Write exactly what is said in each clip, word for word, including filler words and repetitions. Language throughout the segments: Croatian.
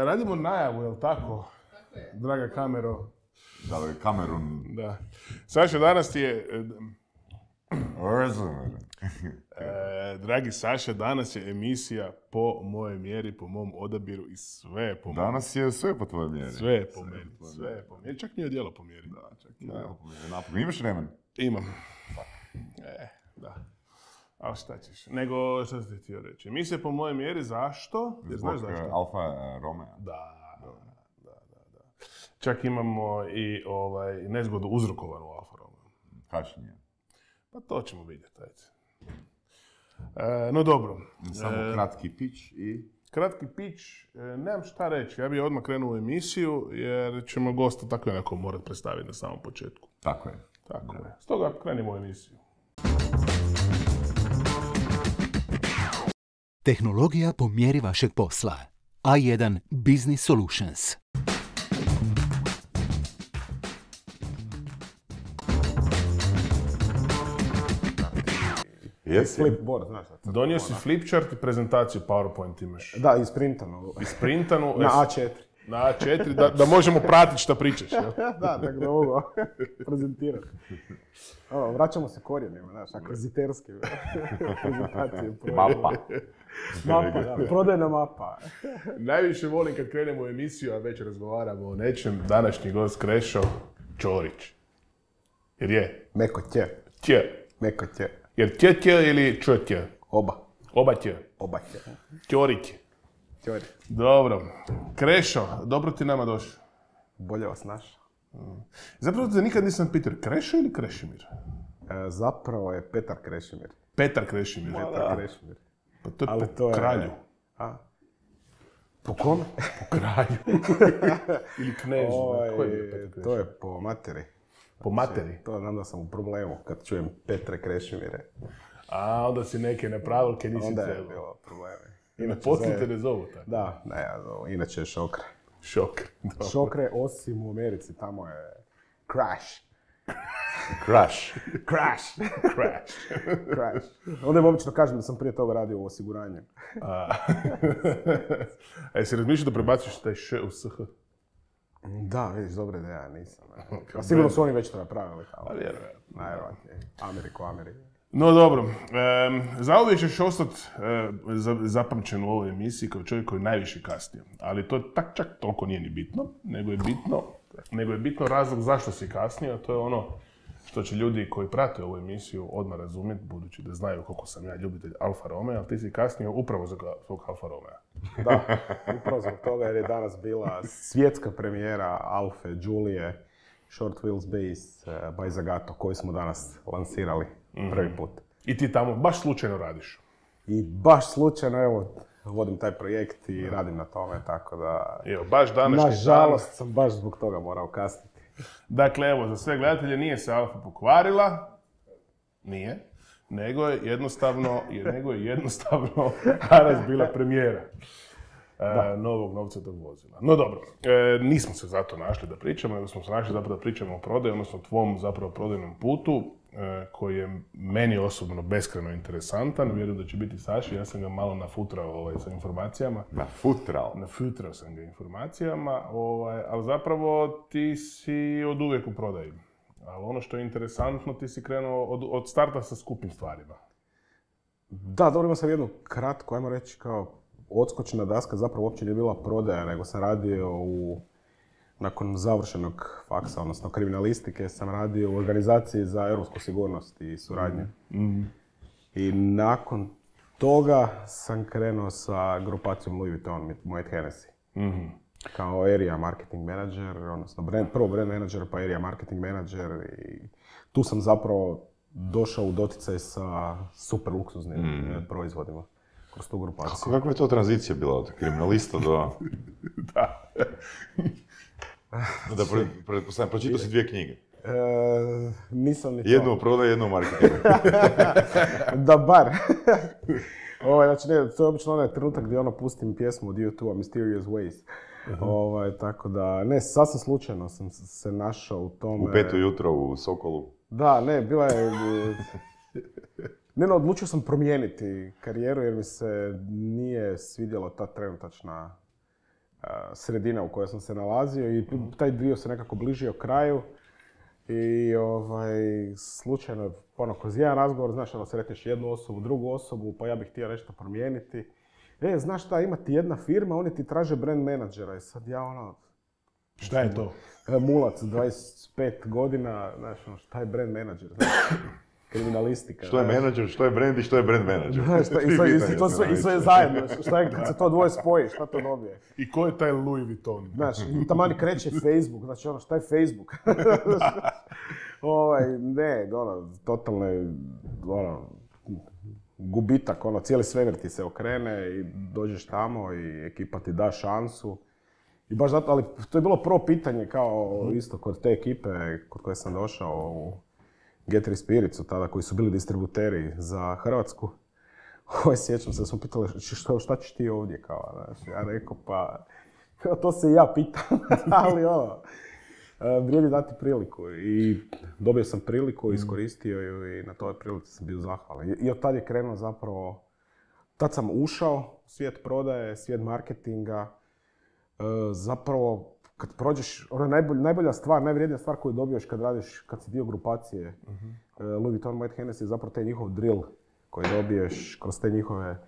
radimo najavu, jel tako? Tako je. Draga kamero. Da, Kamerun. Da. Saša, danas ti je... E, dragi Saša, danas je emisija po mojoj mjeri, po mom odabiru i sve po mojoj. Danas je sve po tvojoj mjeri. Sve je po meni, sve je po mjeri. Čak nije odjelo po mjeri. Da, čak nije odjelo po mjeri. Napokon, imaš vremen? Imam. E, da. A šta ćeš? Nego, šta ti htio reći? Emisija po mojoj mjeri, zašto? Jer znaš Zbog zašto? Alfa Romeo. Da, da, da, da. Čak imamo i ovaj, nezgodu uzrokovanu u Alfa Romeo. Kašnjenje. Pa to ćemo vidjeti, ajde. E, no dobro. Samo e, kratki pitch i... Kratki pitch, e, nemam šta reći. Ja bih odmah krenuo u emisiju, jer ćemo gosta tako jednako morati predstaviti na samom početku. Tako je. Tako da. je. Stoga krenimo u emisiju. Tehnologija po mjeri vašeg posla. A jedan Business Solutions. Jesi? Flipboard, znaš. Donio si flipchart i prezentaciju PowerPoint imaš. Da, isprintanu. Isprintanu. Na A četiri. Na A četiri, da, da možemo pratiti šta pričaš. Jel? Da, tako da mogu prezentirati. Ono, vraćamo se korijenima, znaš, akviziterski prezentacije. Mapa. Mapa, da, prodajna mapa. Najviše volim kad krenemo u emisiju, a već razgovaramo o nečem, današnji gost Krešo Ćorić. Jer je? Meko tje. Tje. Meko tje. Jer tje tje ili čo tje? Oba. Oba tje. Oba tje. Ćorić. Ćori. Dobro. Krešo, dobro ti nama došao. Bolje vas našao. Mm. Zapravo te nikad nisam pitao, Krešo ili Krešimir? E, zapravo je Petar Krešimir. Petar Krešimir. Petar Krešimir. Pa to je Ali po to je... kralju. A? Po kome? Po kralju. Ili knežu. Oj, Ko je Petar Krešimir? to je po materi. Po materi? To znam da sam u problemu kad čujem Petre Krešimire. A, onda si neke nepravilke nisi Onda je trebao. bilo probleme. Inače, poslije te ne zovu tako. Da, ne, ja zovu. Inače je Šokre. Šokre. Dobro. Šokre, osim u Americi, tamo je Crash. Crash. Crash. Crash. Crash. Onda im obično kažem da sam prije toga radio u osiguranju. A, a jesi razmišljao da prebaciš taj š u sh? Da, vidiš, dobra ideja, nisam. A sigurno su oni već to napravili. A vjerujem. Najvjerojatnije. Ameriku, Ameriku. No dobro, e, zauvijek ćeš ostati e, zapamćen u ovoj emisiji kao čovjek koji najviše kasnije. Ali to tak, čak toliko nije ni bitno, nego je bitno, nego je bitno razlog zašto si kasnije, a to je ono što će ljudi koji prate ovu emisiju odmah razumjeti, budući da znaju koliko sam ja ljubitelj Alfa Romeo, ali ti si kasnije upravo zbog svog Alfa Romeo. Da, upravo zbog toga jer je danas bila svjetska premijera Alfe, Giulie, Short Wheels Base by Zagato, koju smo danas lansirali prvi put. I ti tamo baš slučajno radiš? I baš slučajno, evo, vodim taj projekt i radim na tome, tako da... Evo, baš današnji Nažalost sam baš zbog toga morao kasniti. Dakle, evo, za sve gledatelje nije se Alfa pokvarila, nije, nego je jednostavno, nego je jednostavno danas bila premijera e, novog novcatog vozila. No dobro, e, nismo se zato našli da pričamo, nego smo se našli zapravo da pričamo o prodaju, odnosno tvom zapravo prodajnom putu, e, koji je meni osobno beskrajno interesantan. Vjerujem da će biti Saši, ja sam ga malo nafutrao ovaj, sa informacijama. Nafutrao? Nafutrao sam ga informacijama, ovaj, ali zapravo ti si od uvijek u prodaji. Ali ono što je interesantno, ti si krenuo od, od starta sa skupim stvarima. Da, dobro, imao sam jednu kratku, ajmo reći kao odskočna daska, zapravo uopće nije bila prodaja, nego sam radio u, nakon završenog faksa, odnosno kriminalistike, sam radio u organizaciji za europsku sigurnost i suradnju. Mm-hmm. I nakon toga sam krenuo sa grupacijom Louis Vuitton, Moet Hennessy. Mm-hmm. Kao area marketing manager, odnosno brand, prvo brand manager pa area marketing manager i tu sam zapravo došao u doticaj sa super luksuznim mm. proizvodima kroz tu grupaciju. Kako, kako je to tranzicija bila od kriminalista do... Da. Da, pretpostavljam, pročitao si dvije knjige. E, nisam ni to. Jednu u prodaju, jednu u marketingu. Da bar. Ovaj, znači, ne, to je obično onaj trenutak gdje ono pustim pjesmu od U dva, Mysterious Ways. Uh-huh. Ovaj, tako da, ne, sasvim slučajno sam se našao u tome. U petu jutro u Sokolu. Da, ne, bila je... Ne, no, odlučio sam promijeniti karijeru jer mi se nije svidjela ta trenutačna sredina u kojoj sam se nalazio i taj dio se nekako bližio kraju. I ovaj, slučajno, ono, kroz jedan razgovor, znaš, ono, sretneš jednu osobu, drugu osobu, pa ja bih htio nešto promijeniti. E, znaš šta, ima ti jedna firma, oni ti traže brand menadžera i sad ja ono... Šta je to? Mulac, dvadeset pet godina, znaš, ono, šta je brand menadžer, znaš, kriminalistika. Što je menadžer, što je brand i što je brand menadžer? Znaš, šta, i, sve, i, to sve, i sve zajedno, šta je, kad se to dvoje spoji, šta to dobije? I ko je taj Louis Vuitton? Znaš, i tamani kreće Facebook, znači ono, šta je Facebook? ovaj, ne, ono, totalno je, ono, gubitak, ono, cijeli svemir ti se okrene i dođeš tamo i ekipa ti da šansu. I baš zato, ali to je bilo prvo pitanje kao isto kod te ekipe kod koje sam došao u Get Three Spirits, tada koji su bili distributeri za Hrvatsku. Ovo sjećam se da smo pitali što, šta ćeš ti ovdje kao, znaš, ja rekao pa, to se i ja pitam, ali ono, vrijedi dati priliku i dobio sam priliku, iskoristio ju i na toj prilici sam bio zahvalan. I od tad je krenuo zapravo, tad sam ušao u svijet prodaje, svijet marketinga, zapravo kad prođeš, ona najbolj, najbolja stvar, najvrijednija stvar koju dobiješ kad radiš, kad si dio grupacije uh-huh. Louis Vuitton Moet Hennessy je zapravo taj njihov drill koji dobiješ kroz te njihove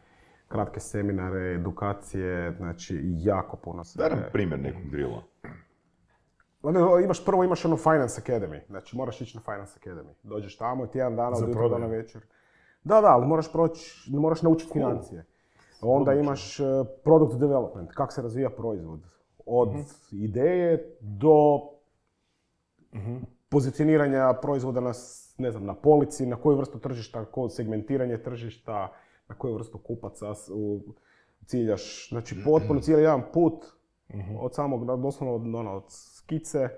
kratke seminare, edukacije, znači jako puno se... Daj nam primjer nekog drilla. Onda imaš, prvo imaš ono Finance Academy, znači moraš ići na Finance Academy. Dođeš tamo i tjedan dana od jutra do na večer. Da, da, ali moraš proći, moraš naučiti financije. Onda imaš uh, product development, kako se razvija proizvod. Od uh-huh. ideje do uh-huh. pozicioniranja proizvoda na, ne znam, na polici, na koju vrstu tržišta, segmentiranje tržišta, na koju vrstu kupaca u, ciljaš. Znači potpuno cijeli jedan put uh-huh. od samog, doslovno ono, od skice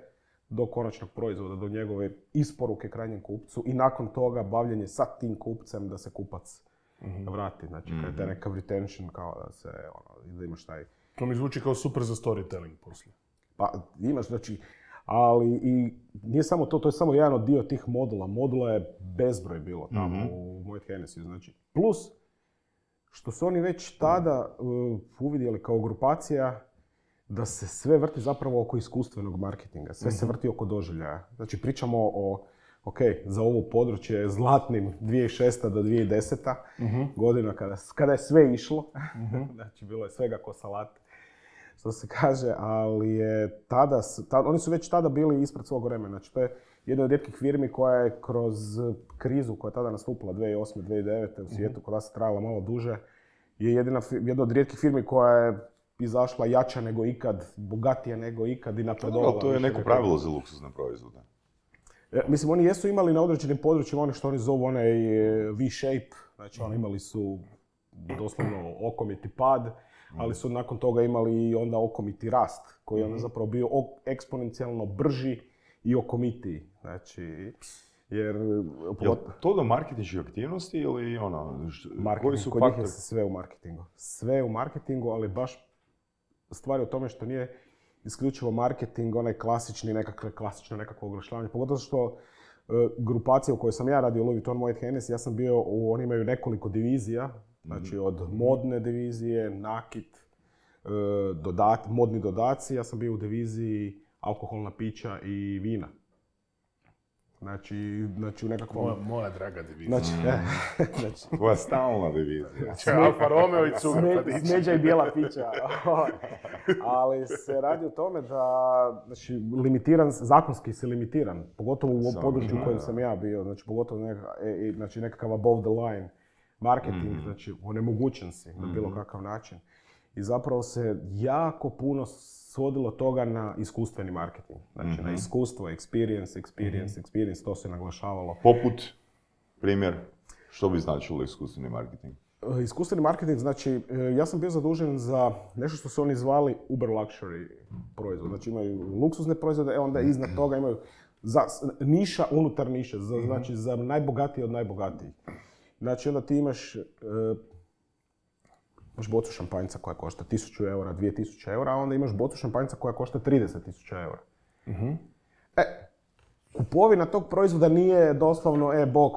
do konačnog proizvoda, do njegove isporuke krajnjem kupcu i nakon toga bavljenje sa tim kupcem da se kupac mm-hmm. vrati. Znači, mm-hmm. kada je neka retention, kao da se, ono, da imaš taj... To mi zvuči kao super za storytelling poslije. Pa, imaš, znači, ali i nije samo to, to je samo jedan od dio tih modula. Modula je bezbroj bilo tamo mm-hmm. u Moet Hennessy, znači. Plus, što su oni već tada uh, uvidjeli kao grupacija, da se sve vrti zapravo oko iskustvenog marketinga, sve mm-hmm. se vrti oko doživljaja. Znači, pričamo o, ok, za ovo područje zlatnim dvije tisuće šesta do dvije tisuće deseta mm-hmm. godina kada, kada je sve išlo. Mm-hmm. Znači, bilo je svega ko salat, što se kaže, ali je tada, tada, oni su već tada bili ispred svog vremena. Znači, to je jedna od rijetkih firmi koja je kroz krizu koja je tada nastupila dvije tisuće osme. dvije tisuće devete u svijetu, mm-hmm. koja se trajala malo duže, je jedina, jedna od rijetkih firmi koja je izašla jača nego ikad, bogatija nego ikad i napredovala. To je neko pravilo za luksuzne proizvode. E, mislim, oni jesu imali na određenim područjima ono što oni zovu onaj V-shape, znači oni imali su doslovno okomiti pad, ali su nakon toga imali i onda okomiti rast, koji je onda zapravo bio eksponencijalno brži i okomitiji. Znači, jer... Jel to do marketinških aktivnosti ili ono... Koji su kod njih je sve u marketingu. Sve u marketingu, ali baš stvari o tome što nije isključivo marketing, onaj klasični, nekakve, klasično nekakvo oglašavanje. Pogotovo što uh, grupacija u kojoj sam ja radio, Louis Vuitton Moet Hennessy, ja sam bio, u, oni imaju nekoliko divizija, znači od modne divizije, nakit, uh, dodat, modni dodaci, ja sam bio u diviziji alkoholna pića i vina. Znači, znači u nekakvom... Moja, moja draga divizija. Znači, mm. znači... Tvoja stalna divizija. Znači, Alfa Romeo i cuga. Sme, smeđa i bijela pića. Ali se radi o tome da, znači, limitiran, zakonski si limitiran, pogotovo u Sam, području u kojem sam ja bio, znači, pogotovo neka, e, znači, nekakav above the line marketing, mm. znači, onemogućen si na bilo kakav način. I zapravo se jako puno svodilo toga na iskustveni marketing. Znači, mm-hmm. na iskustvo, experience, experience, mm-hmm. experience, to se naglašavalo. Poput, primjer, što bi značilo iskustveni marketing? Iskustveni marketing, znači, ja sam bio zadužen za nešto što su oni zvali uber luxury proizvod. Znači, imaju luksuzne proizvode, e onda iznad toga imaju za, niša unutar niše, za, mm-hmm. znači za najbogatiji od najbogatijih. Znači, onda ti imaš... Imaš bocu šampanjca koja košta tisuću eura, dvije tisuće eura, a onda imaš bocu šampanjca koja košta trideset tisuća eura. Uh-huh. E, kupovina tog proizvoda nije doslovno, e, bok,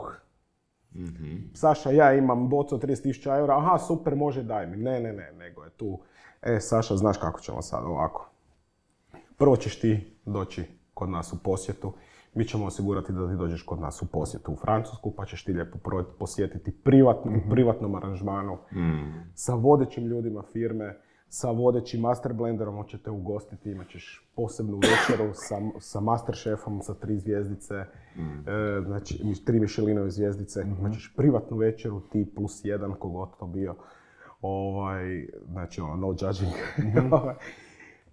uh-huh. Saša, ja imam bocu od trideset tisuća eura, aha, super, može, daj mi. Ne, ne, ne, nego je tu E, Saša, znaš kako ćemo sad ovako. Prvo ćeš ti doći kod nas u posjetu. Mi ćemo osigurati da ti dođeš kod nas u posjetu u Francusku, pa ćeš ti lijepo posjetiti privatno, u privatnom aranžmanu Mm. sa vodećim ljudima firme, sa vodećim master blenderom, on će te ugostiti, imat ćeš posebnu večeru sa, sa master šefom sa tri zvjezdice, Mm. e, znači tri Michelinove zvjezdice, Mhm. imat ćeš privatnu večeru, ti plus jedan, kogod to bio, ovaj, znači ono, no judging. Mhm.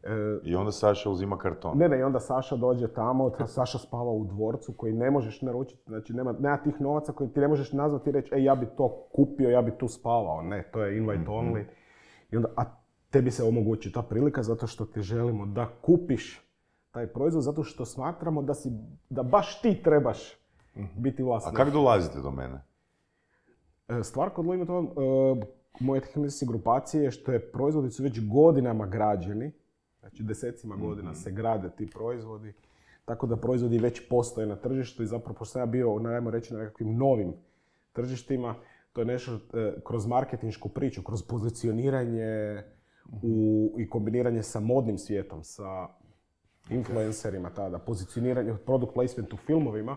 E, I onda Saša uzima karton. Ne, ne, i onda Saša dođe tamo, ta Saša spava u dvorcu koji ne možeš naručiti, znači nema, nema tih novaca koji ti ne možeš nazvati i reći, ej, ja bi to kupio, ja bi tu spavao. Ne, to je invite only. I onda, a tebi se omogući ta prilika zato što ti želimo da kupiš taj proizvod, zato što smatramo da, si, da baš ti trebaš biti A vlasnik. kako dolazite do mene? E, Stvar kod Louis Vuitton, e, moje tehničke grupacije je što je proizvodi su već godinama građeni, znači desecima godina se grade ti proizvodi, tako da proizvodi već postoje na tržištu i zapravo pošto sam ja bio, najmo reći, na nekakvim novim tržištima, to je nešto e, kroz marketinšku priču, kroz pozicioniranje u, i kombiniranje sa modnim svijetom, sa influencerima tada, pozicioniranje, product placement u filmovima,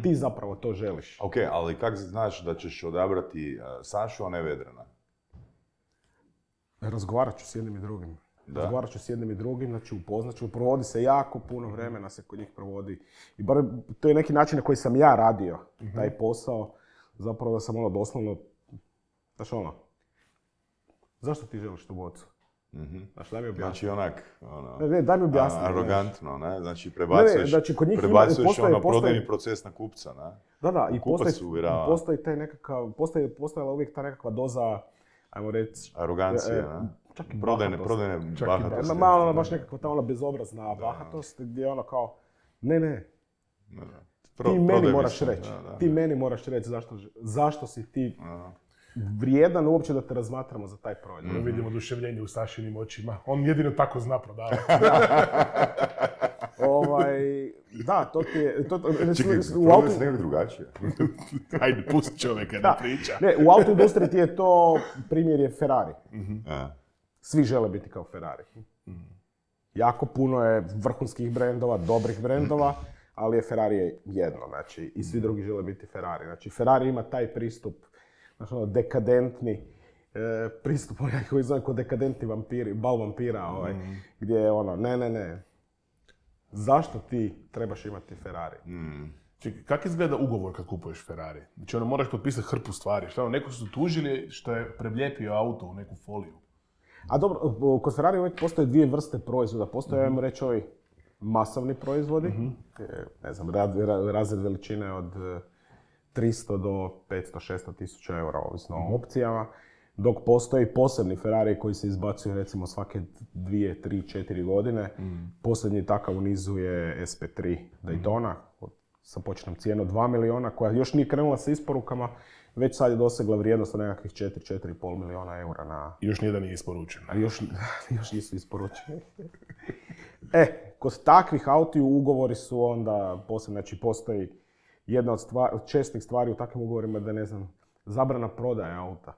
ti zapravo to želiš. Ok, ali kako znaš da ćeš odabrati uh, Sašu, a ne Vedrana? Razgovarat ću s jednim i drugim. Da. Razgovarat ću s jednim i drugim, znači upoznat ću, provodi se jako puno vremena se kod njih provodi. I bar to je neki način na koji sam ja radio taj posao, zapravo da sam ono doslovno, znaš ono, zašto ti želiš tu bocu? Mhm. Znaš, daj mi objasni. Znači onak, ono, Ne, ne, daj mi objasni. a- arogantno, ne? Znači prebacuješ, Ne, ne, znači, kod njih ima- prebacuješ postoje- ono postoje- prodajni proces na kupca, ne? Da, da, i Kupac postoji, uvjerava. i postoji taj nekakav, postoji, postojala uvijek ta nekakva doza, ajmo reći, Arogancije, E, ne? čak i Prodajne, bahatost. prodajne Čak i bahatosti. Ma, malo ona baš nekakva ta ona bezobrazna bahatost gdje ono kao, ne, ne, Da, da. Pro- ti meni prodaj moraš mislim, reći, da, da. ti meni moraš reći zašto, zašto si ti Da. vrijedan uopće da te razmatramo za taj proizvod. Da vidimo oduševljenje u Sašinim očima. On jedino tako zna prodavati. Ovaj, da, to ti je, to, to, Čekaj, u prodaj auto, se nekako drugačije. Ajde, pusti čovjeka da da, priča. ne, u auto industriji ti je to, primjer je Ferrari. E. Svi žele biti kao Ferrari. Jako puno je vrhunskih brendova, dobrih brendova, ali je Ferrari je jedno, znači, i svi drugi žele biti Ferrari. Znači, Ferrari ima taj pristup, znači, ono, dekadentni e, pristup, onaj koji zove kod dekadentni vampiri, bal vampira, ovaj, gdje je ono, ne, ne, ne, zašto ti trebaš imati Ferrari? Mm. Čekaj, kako izgleda ugovor kad kupuješ Ferrari? Znači, ono, moraš potpisati hrpu stvari. Šta, ono, neko su tužili što je prelijepio auto u neku foliju. A dobro, kod Ferrari uvijek postoje dvije vrste proizvoda. Postoje, ajmo reći, ovi masovni proizvodi, e, ne znam, rad- ra- razred veličine od e, tristo do petsto šesto tisuća eura, ovisno o opcijama, dok postoji posebni Ferrari koji se izbacuju recimo svake dvije, tri, četiri godine. Posljednji takav u nizu je S P tri Daytona, od- sa početnom cijenom dva milijuna, koja još nije krenula sa isporukama, već sad je dosegla vrijednost od nekakvih četiri, četiri i pol milijuna eura na... I još nijedan nije isporučen. A još, još nisu isporučeni. E, kod takvih autiju ugovori su onda posebno, znači postoji jedna od, stvar, od čestih stvari u takvim ugovorima da, ne znam, zabrana prodaje auta.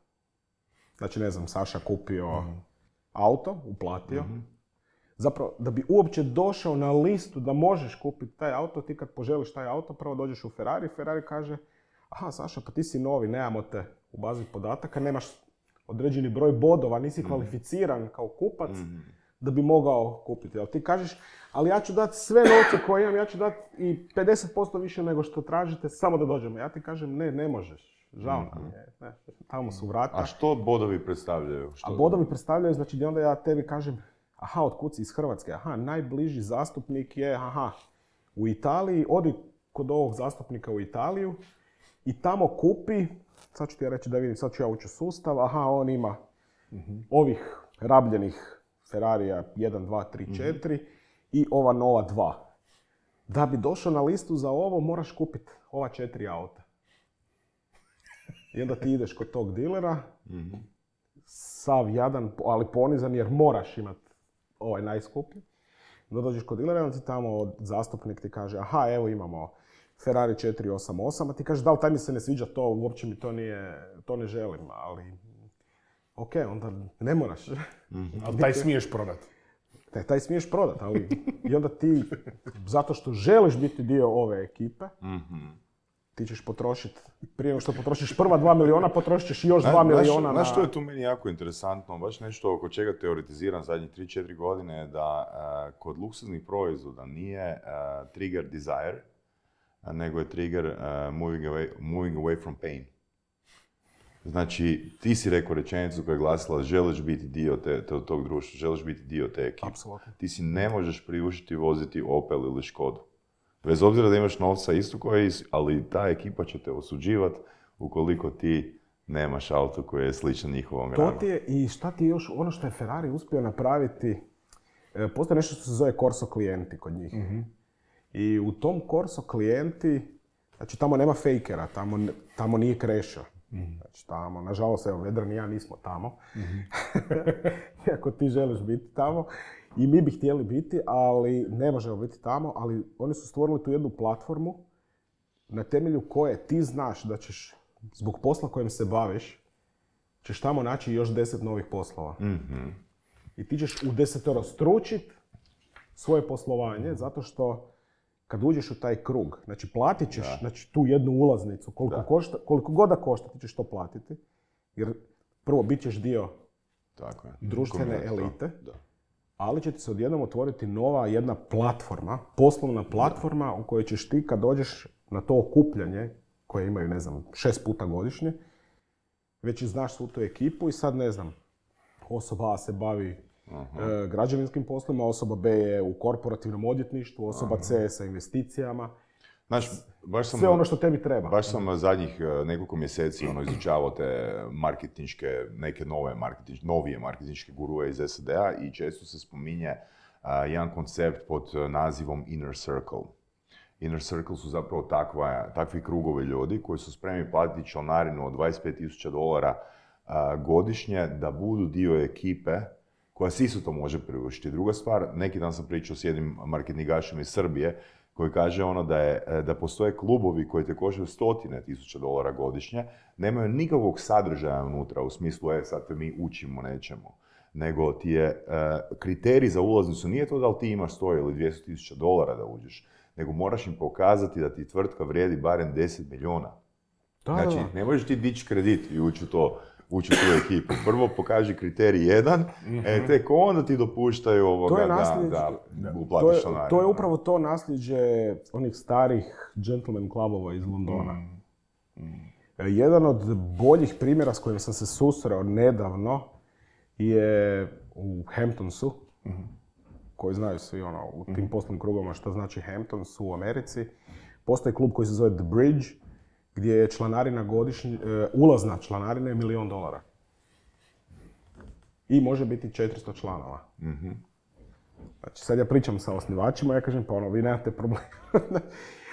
Znači, ne znam, Saša kupio auto, uplatio. Zapravo, da bi uopće došao na listu da možeš kupiti taj auto, ti kad poželiš taj auto, prvo dođeš u Ferrari, Ferrari kaže, aha, Saša, pa ti si novi, nemamo te u bazi podataka, nemaš određeni broj bodova, nisi kvalificiran kao kupac da bi mogao kupiti. Ali ti kažeš, ali ja ću dati sve novce koje imam, ja ću dati i pedeset posto više nego što tražite, samo da dođemo. Ja ti kažem, ne, ne možeš. Žao nam je. Ne, tamo su vrata. A što bodovi predstavljaju? Što... A bodovi predstavljaju, znači gdje onda ja tebi kažem, aha, otkud si iz Hrvatske, aha, najbliži zastupnik je, aha, u Italiji, odi kod ovog zastupnika u Italiju i tamo kupi, sad ću ti ja reći da vidim, sad ću ja ući u sustav, aha, on ima ovih rabljenih Ferrarija jedan, dva, tri, četiri i ova nova dva. Da bi došao na listu za ovo, moraš kupiti ova četiri auta. I onda ti ideš kod tog dilera, sav jadan, ali ponizan jer moraš imati ovaj najskuplji. Onda dođeš kod dilera, onda ti tamo zastupnik ti kaže, aha, evo imamo Ferrari četiri osam osam, a ti kažeš, da li taj mi se ne sviđa to, uopće mi to nije, to ne želim, ali ok, onda ne moraš. Ali taj smiješ prodat. Taj, taj smiješ prodat, ali i onda ti, zato što želiš biti dio ove ekipe, ti ćeš potrošiti, prije nego što potrošiš prva dva miliona, potrošit ćeš još dva miliona na... Znaš što je tu meni jako interesantno, baš nešto oko čega teoretiziram zadnjih tri četiri godine, da uh, kod luksuznih proizvoda nije uh, trigger desire, uh, nego je trigger uh, moving, away, moving away from pain. Znači, ti si rekao rečenicu koja je glasila želiš biti dio te, te, tog društva, želiš biti dio te ekipe. Apsolutno. Ti si ne možeš priuštiti voziti Opel ili Škodu. Bez obzira da imaš novca isto koji, ali ta ekipa će te osuđivati ukoliko ti nemaš auto koji je sličan njihovom granu. To ti je, i šta ti je još, ono što je Ferrari uspio napraviti, e, postoji nešto što se zove Corso klijenti kod njih. Mm-hmm. I u tom Corso klijenti, znači tamo nema fejkera, tamo, tamo nije krešo. Mm-hmm. Znači tamo, nažalost, evo, Vedran i ja nismo tamo. Mm-hmm. Iako ti želiš biti tamo. I mi bi htjeli biti, ali ne možemo biti tamo, ali oni su stvorili tu jednu platformu na temelju koje ti znaš da ćeš, zbog posla kojim se baviš, ćeš tamo naći još deset novih poslova. Mm-hmm. I ti ćeš u desetoro stručit svoje poslovanje, zato što kad uđeš u taj krug, znači platit ćeš znači, tu jednu ulaznicu, koliko, košta, koliko god da košta, ti ćeš to platiti, jer prvo bit ćeš dio Tako je. društvene elite. Da. Ali će ti se odjednom otvoriti nova jedna platforma, poslovna platforma da. U kojoj ćeš ti kad dođeš na to okupljanje, koje imaju, ne znam, šest puta godišnje, već i znaš svu tu ekipu i sad, ne znam, osoba A se bavi e, građevinskim poslovima, osoba B je u korporativnom odvjetništvu, osoba Aha. C sa investicijama. Znaš, baš sam, sve ono što tebi treba. Baš sam zadnjih nekoliko mjeseci ono, izučavao te marketinške, neke nove marketinške, novije marketinške gurue iz S A D-a i često se spominje uh, jedan koncept pod nazivom Inner Circle. Inner Circle su zapravo takva, takvi krugovi ljudi koji su spremni platiti članarinu od dvadeset pet tisuća dolara uh, godišnje da budu dio ekipe koja si isto to može priuštiti. Druga stvar, neki dan sam pričao s jednim marketingašem iz Srbije koji kaže ono da, je, da postoje klubovi koji te koštaju stotine tisuća dolara godišnje, nemaju nikakvog sadržaja unutra u smislu, e, sad te mi učimo nečemu. Nego ti je uh, kriterij za ulaznicu, nije to da li ti imaš sto ili dvjesto tisuća dolara da uđeš, nego moraš im pokazati da ti tvrtka vrijedi barem deset milijuna. Da, znači, da. Ne možeš ti dići kredit i ući u to, ući u tu ekipu. Prvo pokaži kriterij jedan, mm-hmm. e, tek onda ti dopuštaju ovoga da, da uplatiš članarinu. To je upravo to nasljeđe onih starih gentleman klubova iz Londona. Mm. Mm. Jedan od boljih primjera s kojim sam se susreo nedavno je u Hamptonsu, mm-hmm. koji znaju svi ono, u tim mm-hmm. poslovnim krugovima što znači Hamptons u Americi. Postoji klub koji se zove The Bridge, gdje je članarina godišnja, uh, ulazna članarina je milijon dolara. I može biti četiristo članova. Mm-hmm. Znači, sad ja pričam sa osnivačima, ja kažem, pa ono, vi nemate problema.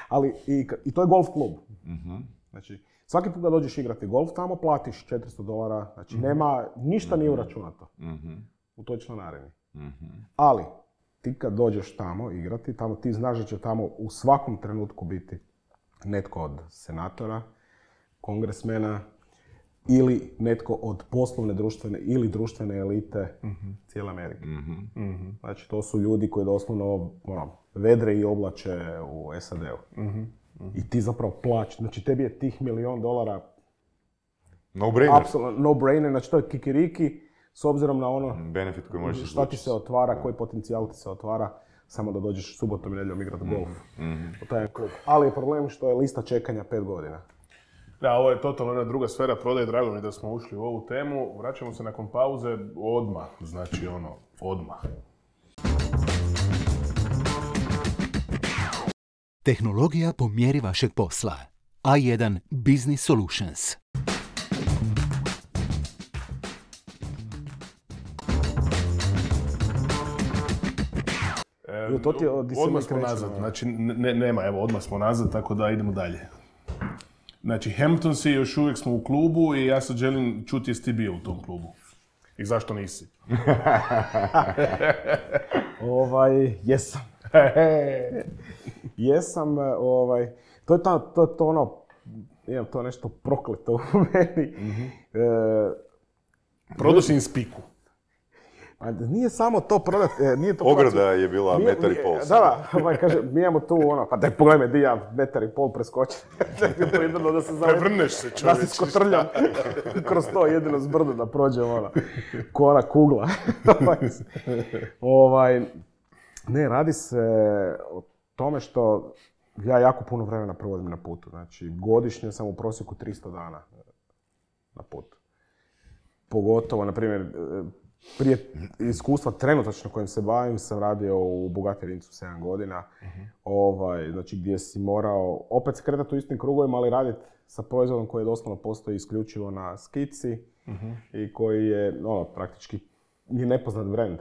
Ali, i, i to je golf klub. Mm-hmm. Znači, svaki put da dođeš igrati golf, tamo platiš četiristo dolara, znači mm-hmm. nema, ništa mm-hmm. nije uračunato mm-hmm. u toj članarini. Mm-hmm. Ali, ti kad dođeš tamo igrati, tamo ti znaš da će tamo u svakom trenutku biti netko od senatora, kongresmena ili netko od poslovne društvene ili društvene elite mm-hmm. cijele Amerike. Mm-hmm. Znači, to su ljudi koji doslovno ono, vedre i oblače u S A D-u. Mm-hmm. I ti zapravo plaćaš. Znači, tebi je tih milijon dolara no-brainer. Apsolutno no-brainer. Znači, to je kikiriki s obzirom na ono benefit koji možeš šta ti se otvara, koji potencijal ti se otvara. Samo da dođeš subotom i nedjeljom igrati golf. Mm-hmm. Ali je problem što je lista čekanja pet godina. Da, ovo je totalno jedna druga sfera prodaje, drago mi da smo ušli u ovu temu. Vraćamo se nakon pauze odmah, znači ono, odmah. Tehnologija po mjeri vašeg posla. A jedan Business Solutions. E, to ti je odmah smo nazad, znači ne, nema, evo odmah smo nazad, tako da idemo dalje. Znači, Hamptonsi, još uvijek smo u klubu i ja sad želim čuti jesi ti bio u tom klubu. I zašto nisi? ovaj, jesam. jesam, ovaj, to je to, to, to ono, imam to nešto prokleto u meni. Mm-hmm. E, Prodao si im spiku. Pa nije samo to prodat, e, nije to Ograda prodat- je bila Nije- metar i pol. Da, da, ovaj kaže, mi imamo tu ono, pa daj pogledaj me, di ja metar i pol preskočim. To je jedino da se zaletim. Prevrneš se, Da čovječe. se skotrljam kroz to, jedino s brdo da prođem, ono, ko ona kugla. ovaj, ne, radi se o tome što ja jako puno vremena provodim na putu. Znači, godišnje sam u prosjeku tristo dana na putu. Pogotovo, na primjer, prije iskustva trenutačno kojim se bavim, sam radio u Bugatti Rincu sedam godina, ovaj, znači gdje si morao opet se kretati u istim krugovima, ali raditi sa proizvodom koji doslovno postoji isključivo na skici i koji je ono, praktički je nepoznat brand.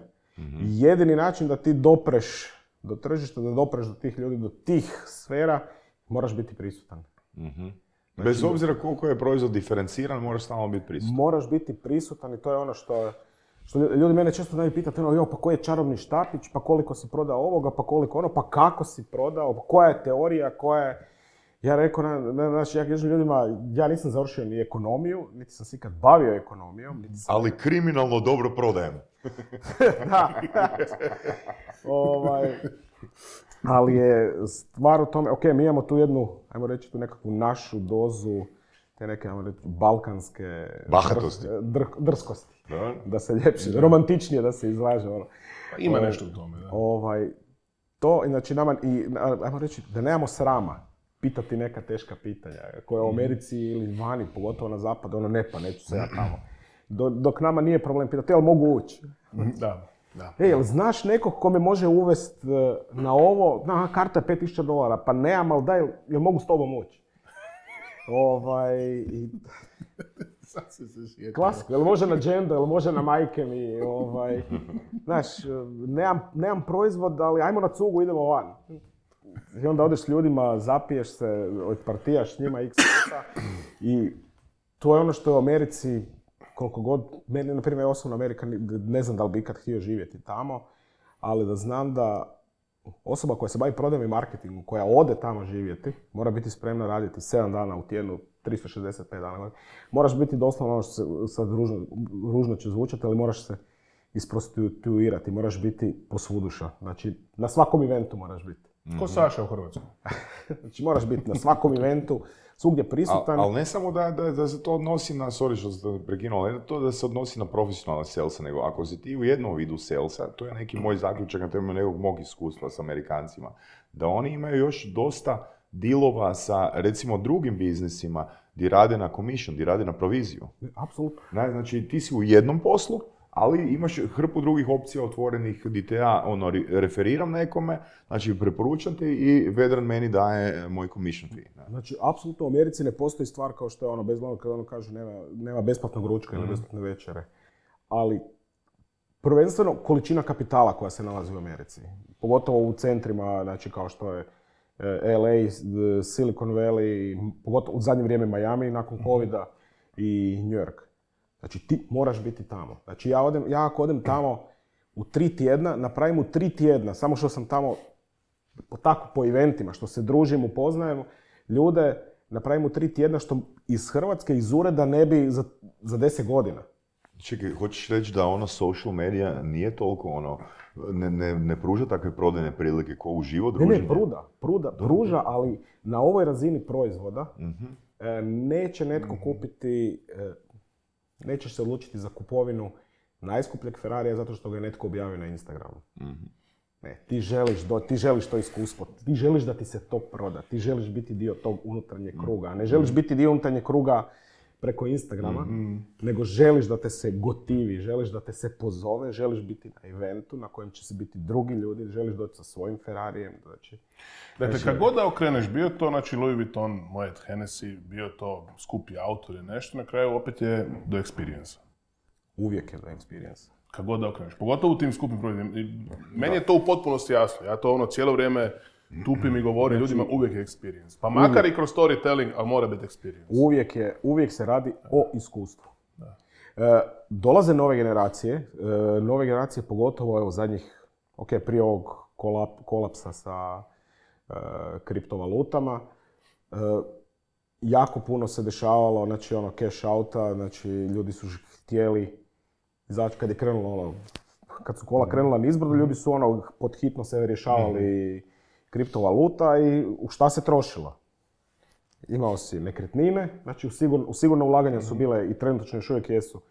Jedini način da ti dopreš do tržišta, da dopreš do tih ljudi, do tih sfera, moraš biti prisutan. Bez obzira koliko je proizvod diferenciran, moraš stalno biti prisutan. Moraš biti prisutan i to je ono što, što ljudi mene često znaju pitati, ono, jo, pa koji je čarobni štapić, pa koliko si prodao ovoga, pa koliko ono, pa kako si prodao, pa koja je teorija, koja je... Ja rekao, na, na, znači, ja kažem ljudima, ja nisam završio ni ekonomiju, niti sam se ikad bavio ekonomijom, niti sam... Ali kriminalno dobro prodajem. Da. ovaj, ali je stvar u tome, ok, mi imamo tu jednu, ajmo reći tu nekakvu našu dozu, te neke, ajmo reći, balkanske... Bahatosti. dr- dr- drskosti. Da. Da se ljepše, romantičnije da se izlaže, ono. Pa ima Ovaj, nešto u tome, da. Ovaj, to, znači, nama, i, ajmo reći, da nemamo srama pitati neka teška pitanja, koja u Americi ili vani, pogotovo na zapadu, ono, ne pa, neću se ja tamo. Do, dok nama nije problem pitati, jel mogu ući? Da, da. E, jel znaš nekog ko me može uvest e, na ovo, na, karta je pet tisuća dolara, pa nemam, ali daj, jel mogu s tobom ući? Ovaj, i, Sad si se sjetio. klasiko, jel može na džendo, jel može na majke mi, ovaj, znaš, nemam, nemam proizvod, ali ajmo na cugu, idemo van. I onda odeš s ljudima, zapiješ se, odpartijaš s njima x puta i to je ono što je u Americi, koliko god, meni, na primjer, osobno Amerika, ne znam da li bi ikad htio živjeti tamo, ali da znam da osoba koja se bavi prodajom i marketingom, koja ode tamo živjeti, mora biti spremna raditi sedam dana u tjednu, tristo šezdeset pet dana. Moraš biti doslovno, ono što se sad ružno, ružno će zvučati, ali moraš se isprostituirati, moraš biti posvuduša. Znači, na svakom eventu moraš biti. Ko Saša u Hrvatskoj. Znači, moraš biti na svakom eventu, svugdje prisutan. Ali ne samo da, da, da se to odnosi na, sorry što sam te prekinuo, ne to da se odnosi na profesionalne salesa, nego ako si ti u jednom vidu salesa, to je neki moj zaključak na temelju nekog mog iskustva s Amerikancima, da oni imaju još dosta dilova sa, recimo, drugim biznisima gdje rade na commission, gdje rade na proviziju. Apsolutno. Ne, znači, ti si u jednom poslu, ali imaš hrpu drugih opcija otvorenih gdje te ja ono, re- referiram nekome, znači preporučam te i Vedran meni daje moj commission fee. Ne? Znači, apsolutno u Americi ne postoji stvar kao što je ono, bezglavno kada ono kaže nema, nema besplatnog ručka ili besplatne večere. Ali, prvenstveno količina kapitala koja se nalazi u Americi. Pogotovo u centrima, znači kao što je L A, Silicon Valley, pogotovo u zadnje vrijeme Miami nakon covida i New York. Znači, ti moraš biti tamo. Znači, ja, odem, ja ako odem tamo u tri tjedna, napravim u tri tjedna, samo što sam tamo po, tako po eventima, što se družim, upoznajem ljude, napravim u tri tjedna što iz Hrvatske, iz ureda ne bi za, za deset godina. Čekaj, hoćeš reći da ono social media nije toliko ono, ne, ne, ne pruža takve prodajne prilike ko u živo Ne, druženje? ne, pruda, pruda, pruža, ali na ovoj razini proizvoda e, neće netko kupiti, e, nećeš se odlučiti za kupovinu najskupljeg Ferrarija zato što ga je netko objavio na Instagramu. Ne, ti želiš, do, ti želiš to iskustvo, ti želiš da ti se to proda, ti želiš biti dio tog unutarnjeg kruga, a ne želiš biti dio unutarnjeg kruga preko Instagrama, nego želiš da te se gotivi, želiš da te se pozove, želiš biti na eventu na kojem će se biti drugi ljudi, želiš doći sa svojim Ferrarijem. Znači, Dakle, znači, kad god da okreneš, bio to znači Louis Vuitton, Moet Hennessy, bio to skupi auto ili nešto, na kraju opet je do experience. uvijek je do experience. Kad god da okreneš, pogotovo u tim skupim proizvodima. I meni je to u potpunosti jasno, ja to ono cijelo vrijeme tupim i govorim ljudima, uvijek je experience. Pa makar i kroz storytelling, ali mora biti experience. Uvijek, je, uvijek se radi o iskustvu. E, dolaze nove generacije, e, nove generacije pogotovo evo zadnjih, ok, prije ovog kolap, kolapsa sa e, kriptovalutama, e, jako puno se dešavalo, znači ono cash outa, znači ljudi su htjeli Izaći kad je krenulo ono, kad su kola krenula nizbrdo, ljudi su ono pod hitno se rješavali mm-hmm. kriptovaluta i u šta se trošilo. Imao si nekretnine, znači u, sigur, u sigurno ulaganja su bile i trenutno još uvijek jesu,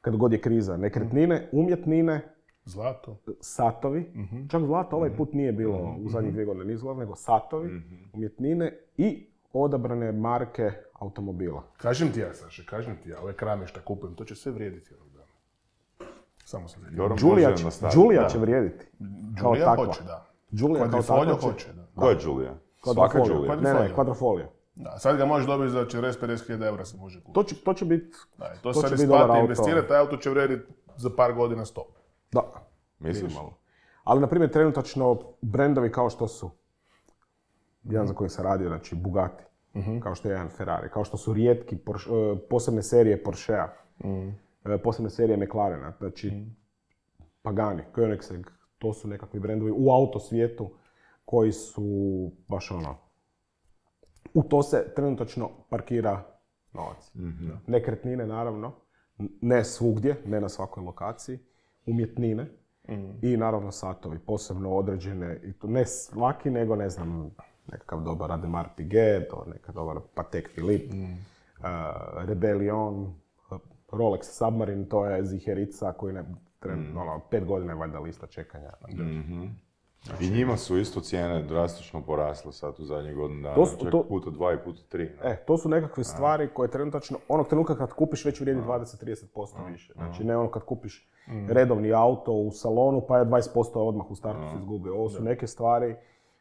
kad god je kriza, nekretnine, umjetnine, zlato, satovi, mm-hmm. čak zlato ovaj put nije bilo mm-hmm. u zadnjih dvije godine, nije zlato, nego satovi, mm-hmm. umjetnine i odabrane marke automobila. Kažem ti ja, Saša, kažem ti ja, ove krame što kupujem, to će sve vrijediti jednog dana. Samo sam Joran Giulia, može nastaviti. Giulia Da. će vrijediti. Giulia hoće, da. Giulia kao Quadrifoglio takva će... hoće, da. Ko je Giulia? Svaka Giulia. Ne, ne, Quadrifoglio. Da, sad ga možeš dobiti za četrdeset do pedeset hiljada eura se može kupiti. To će, to će biti... Da, to, to sad isplati investirati, taj auto će vrijediti za par godina sto. Da. Misliš? Malo. Ali, na primjer, trenutačno brendovi kao što su, jedan za koji sam radio, znači Bugatti, uh-huh. kao što je jedan Ferrari, kao što su rijetki Porsche, posebne serije Porschea, uh-huh. posebne serije McLarena, znači uh-huh. Pagani, Koenigsegg, to su nekakvi brendovi u auto svijetu koji su baš ono, u to se trenutačno parkira novac. Mm-hmm. Nekretnine, naravno, ne svugdje, ne na svakoj lokaciji, umjetnine mm. i naravno satovi, posebno određene, i to ne svaki, nego ne znam, nekakav dobar Audemars Piguet, nekakav dobar Patek Philippe, mm. uh, Rebellion, Rolex Submarine, to je ziherica koji ne, tren, mm. ono, pet godina je valjda lista čekanja. Mm-hmm. Znači, I njima su isto cijene drastično porasle sad u zadnjih godinu dana, to su, čak to, puta dva i puta tri. Ne? E, to su nekakve stvari koje trenutačno, onog trenutka kad kupiš već vrijedi dvadeset do trideset posto više. Znači ne ono kad kupiš mm. redovni auto u salonu pa je dvadeset posto odmah u startu se izgubio. Ovo su neke stvari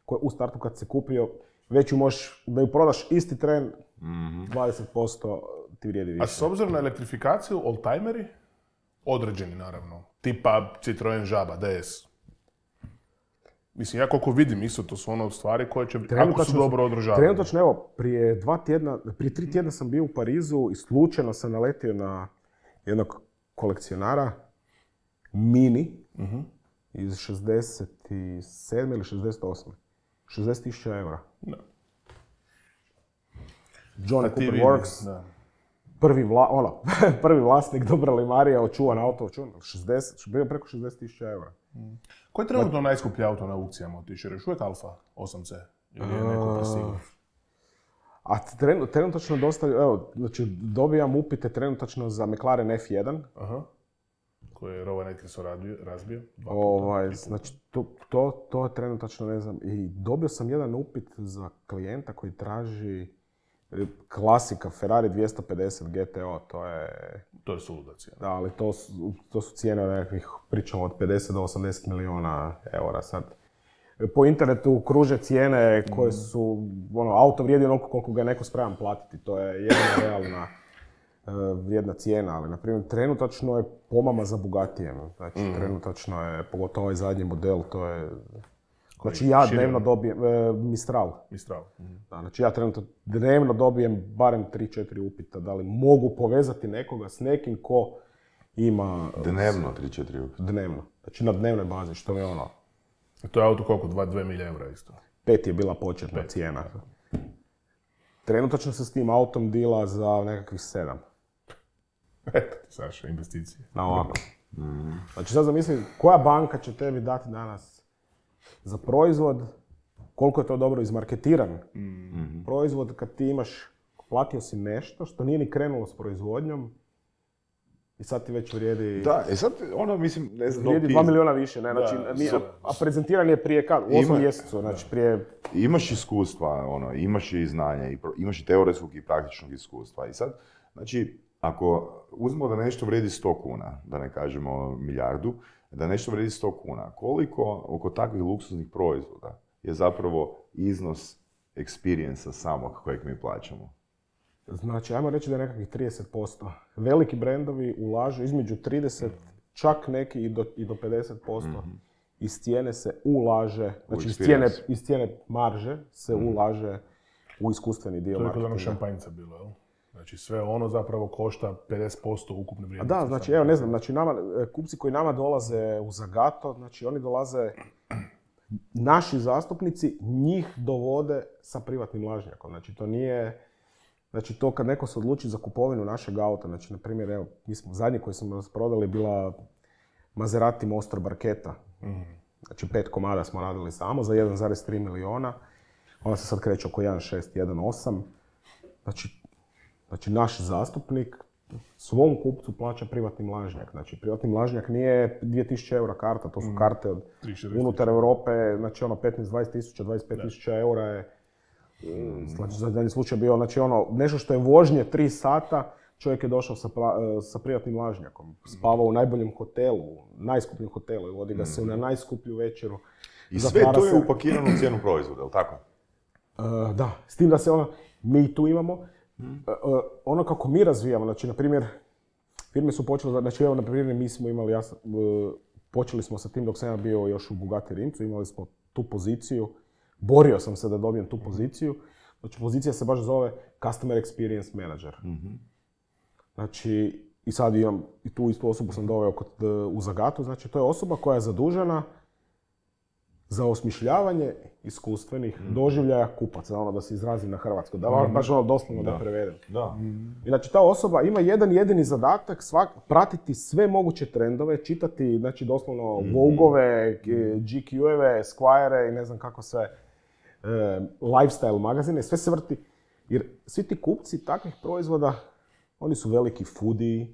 koje u startu kad se kupio, već ju možeš, da ju prodaš isti tren, mm-hmm. dvadeset posto ti vrijedi više. A s obzirom na elektrifikaciju, oldtimeri, određeni naravno, tipa Citroen Žaba, D S. Mislim, ja koliko vidim isto, to su ono stvari koje će, ako su dobro održavane. Trenutačno, evo, prije dva tjedna, prije tri tjedna sam bio u Parizu i slučajno sam naletio na jednog kolekcionara, Mini, uh-huh. iz šezdeset sedme ili šezdeset osme šezdeset tisuća eura. Da. Johnny Cooper Works, da. Prvi, vla, ono, prvi vlasnik Dobra Limarija, očuvan auto, očuvan, šezdeset, bio preko šezdeset tisuća eura. Mm. Koji je trenutno najskuplji auto na aukcijama otišao? Još uvijek Alfa osam ce? Ili je neko prestigao? A tren, trenutačno dosta, evo, znači dobijam upite trenutačno za McLaren F jedan. Aha. Koji je Rowan Atkinson razbio. Ovaj, znači, to, to, to je trenutačno, ne znam, i dobio sam jedan upit za klijenta koji traži klasika Ferrari dvjesto pedeset G T O, to je... To je suluda cijena. Da, ali to su, to su cijene nekakvih, pričamo od pedeset do osamdeset milijuna eura sad. Po internetu kruže cijene koje su, ono, auto vrijedi onoliko koliko ga je neko spreman platiti. To je jedna realna uh, vrijedna cijena, ali na primjer trenutačno je pomama za Bugatijem. Znači mm. trenutačno je, pogotovo ovaj zadnji model, to je... Znači ja dnevno dobijem, e, Mistral. Mistral. Mm. Da, znači ja trenutno dnevno dobijem barem tri četiri upita, da li mogu povezati nekoga s nekim ko ima... Dnevno tri četiri upita? Dnevno. Znači na dnevnoj bazi, što je ono... A to je auto koliko? dva milija eura isto? Pet je bila početna Pet. cijena. Trenutačno se s tim autom dila za nekakvih sedam. Eto ti, Saša, investicije. Na ovako. Mm. Znači sad zamislim, koja banka će tebi dati danas za proizvod, koliko je to dobro izmarketiran mm-hmm. proizvod kad ti imaš, platio si nešto što nije ni krenulo s proizvodnjom i sad ti već vrijedi... Da, i sad ono, mislim, ne znam... Vrijedi dva milijuna više, ne, znači, da, nije, a prezentiran je prije kad? U osmom mjesecu, znači prije... Imaš iskustva, ono, imaš i znanja, imaš i teoretskog i praktičnog iskustva i sad, znači, ako uzmemo da nešto vrijedi sto kuna, da ne kažemo milijardu, da nešto vrijedi sto kuna, koliko oko takvih luksuznih proizvoda je zapravo iznos experience-a samog kojeg mi plaćamo? Znači, ajmo reći da je nekakvih trideset posto. Veliki brendovi ulažu između trideset, čak neki i do, i do pedeset posto. Mm-hmm. Iz cijene se ulaže, znači iz cijene, iz cijene marže se mm-hmm. ulaže u iskustveni dio marketinga. To je kod onog šampanjca bilo, jel? Znači sve ono zapravo košta pedeset posto ukupne vrijednosti. Da, znači evo ne znam, znači nama, kupci koji nama dolaze u Zagato, znači oni dolaze, naši zastupnici njih dovode sa privatnim lažnjakom. Znači to nije, Znači to kad neko se odluči za kupovinu našeg auta, znači na primjer, evo, mi smo zadnji koji smo prodali bila Maserati Monster Barchetta. Mm. Znači pet komada smo radili samo za jedan zarez tri miliona. Ona se sad kreće oko jedan šest, jedan osam. Znači, znači naš zastupnik svom kupcu plaća privatni mlažnjak. Znači privatni mlažnjak nije dvije tisuće eura karta, to su karte od unutar Europe, znači ono petnaest dvadeset tisuća, dvadeset pet tisuća eura je znači za zadnji slučaj bio, znači ono nešto što je vožnje tri sata, čovjek je došao sa, pra, sa privatnim mlažnjakom, spavao u najboljem hotelu, najskupljem hotelu i vodi ga se na najskuplju večeru. I sve to je se upakirano u cijenu proizvoda, je li tako? Uh, da, s tim da se ono, mi tu imamo, Hmm. Uh, ono kako mi razvijamo, znači, na primjer, firme su počele, znači, evo, na primjer, mi smo imali, ja, uh, počeli smo sa tim dok sam ja bio još u Bugatti Rimcu, imali smo tu poziciju, borio sam se da dobijem tu poziciju, znači, pozicija se baš zove Customer Experience Manager. Mm-hmm. Znači, i sad imam, i tu istu osobu sam doveo kod, uh, u Zagatu, znači, to je osoba koja je zadužena za osmišljavanje iskustvenih mm. doživljaja kupaca, ono da se izrazim na hrvatsko, da mm. baš ono doslovno da, da prevedem. Da. Mm. I znači ta osoba ima jedan jedini zadatak, svak, pratiti sve moguće trendove, čitati znači doslovno mm. Vogue-ove, G Q-eve, Squire-e i ne znam kako sve, e, lifestyle magazine, sve se vrti. Jer svi ti kupci takvih proizvoda, oni su veliki foodie,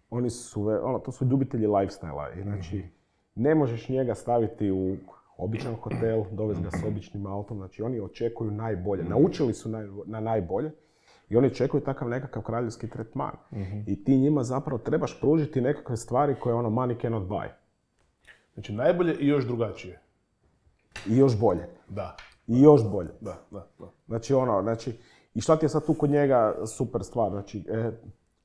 oni su, ono, to su ljubitelji lifestyle-a. I znači, mm. ne možeš njega staviti u običan hotel, dovesti ga s običnim autom, znači oni očekuju najbolje, naučili su naj, na najbolje i oni očekuju takav nekakav kraljevski tretman. Mm-hmm. I ti njima zapravo trebaš pružiti nekakve stvari koje ono money cannot buy. Znači najbolje i još drugačije. I još bolje. Da. I još bolje. Da, da, da. Znači ono, znači, i šta ti je sad tu kod njega super stvar, znači, e,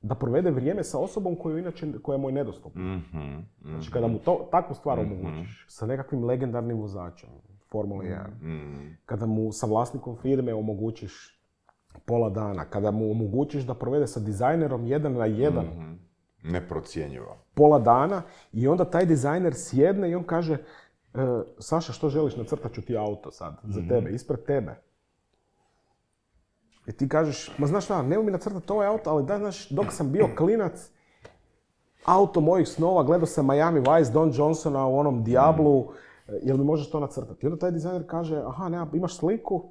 da provede vrijeme sa osobom koju inače, koja mu je nedostupna. Mm-hmm, mm-hmm. Znači kada mu to, takvu stvar mm-hmm. omogućiš, sa nekakvim legendarnim vozačem, Formula jedan, mm-hmm. kada mu sa vlasnikom firme omogućiš pola dana, kada mu omogućiš da provede sa dizajnerom jedan na jedan, mm-hmm. neprocjenjivo, pola dana i onda taj dizajner sjedne i on kaže e, Saša, što želiš, nacrtat ću ti auto sad, mm-hmm. za tebe, ispred tebe. I ti kažeš, ma znaš šta, nemoj mi nacrtati ovaj auto, ali da, znaš, dok sam bio klinac, auto mojih snova, gledao sam Miami Vice, Don Johnsona u onom Diablu, mm. jel mi možeš to nacrtati? I onda taj dizajner kaže, aha, nema, imaš sliku,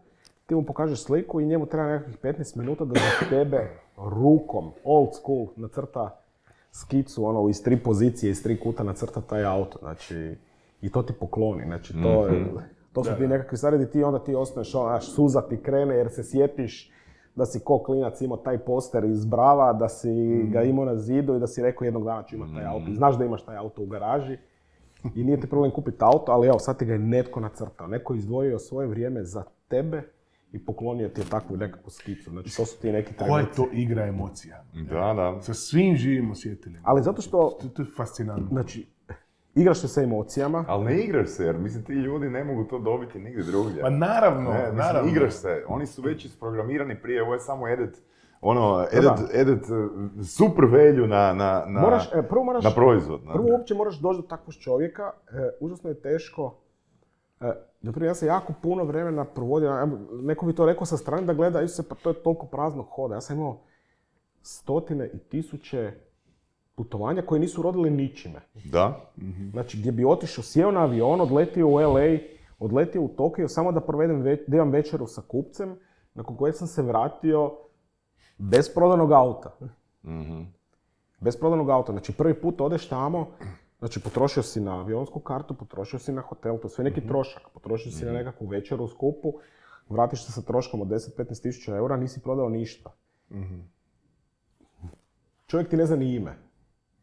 ti mu pokažeš sliku i njemu treba nekakvih petnaest minuta da za tebe rukom, old school, nacrta skicu, ono, iz tri pozicije, iz tri kuta nacrta taj auto, znači, i to ti pokloni, znači, to je, mm-hmm. to su da, ti nekakvi stvari gdje ti onda ti osnuješ, ono, znaš, suza ti krene jer se sjetiš da si ko klinac imao taj poster iz Brava, da si mm. ga imao na zidu i da si rekao jednog dana ću imati taj auto. I znaš da imaš taj auto u garaži i nije ti problem kupiti auto, ali evo, sad ti ga je netko nacrtao. Netko je izdvojio svoje vrijeme za tebe i poklonio ti je takvu nekakvu skicu. Znači, to su ti neki trenuci. Koja je to igra emocija? Da, da. Sa svim živim osjetilima. Ali zato što... To, to je fascinantno. Znači, igraš se sa emocijama. Ali ne igraš se, jer mislim ti ljudi ne mogu to dobiti nigdje drugdje. Pa naravno, ne, mislim, naravno. Igraš se, oni su već isprogramirani prije, ovo je samo edit, ono, edit, edit super value na, na, na, moraš, e, prvo moraš, na proizvod. Na. Prvo uopće moraš doći do takvog čovjeka, e, užasno je teško. E, naprimjer, ja sam jako puno vremena provodio, neko bi to rekao sa strane da gleda, se, pa to je toliko praznog hoda. Ja sam imao stotine i tisuće putovanja koje nisu rodili ničime. Da. Mm-hmm. Znači, gdje bi otišao, sjeo na avion, odletio u L A, odletio u Tokio, samo da provedem ve- da imam večeru sa kupcem, nakon kojeg sam se vratio bez prodanog auta. Mm-hmm. Bez prodanog auta. Znači, prvi put odeš tamo, znači, potrošio si na avionsku kartu, potrošio si na hotel, to je sve neki mm-hmm. trošak. Potrošio si mm-hmm. na nekakvu večeru u skupu, vratiš se sa troškom od deset do petnaest tisuća eura, nisi prodao ništa. Mm-hmm. Čovjek ti ne zna ni ime.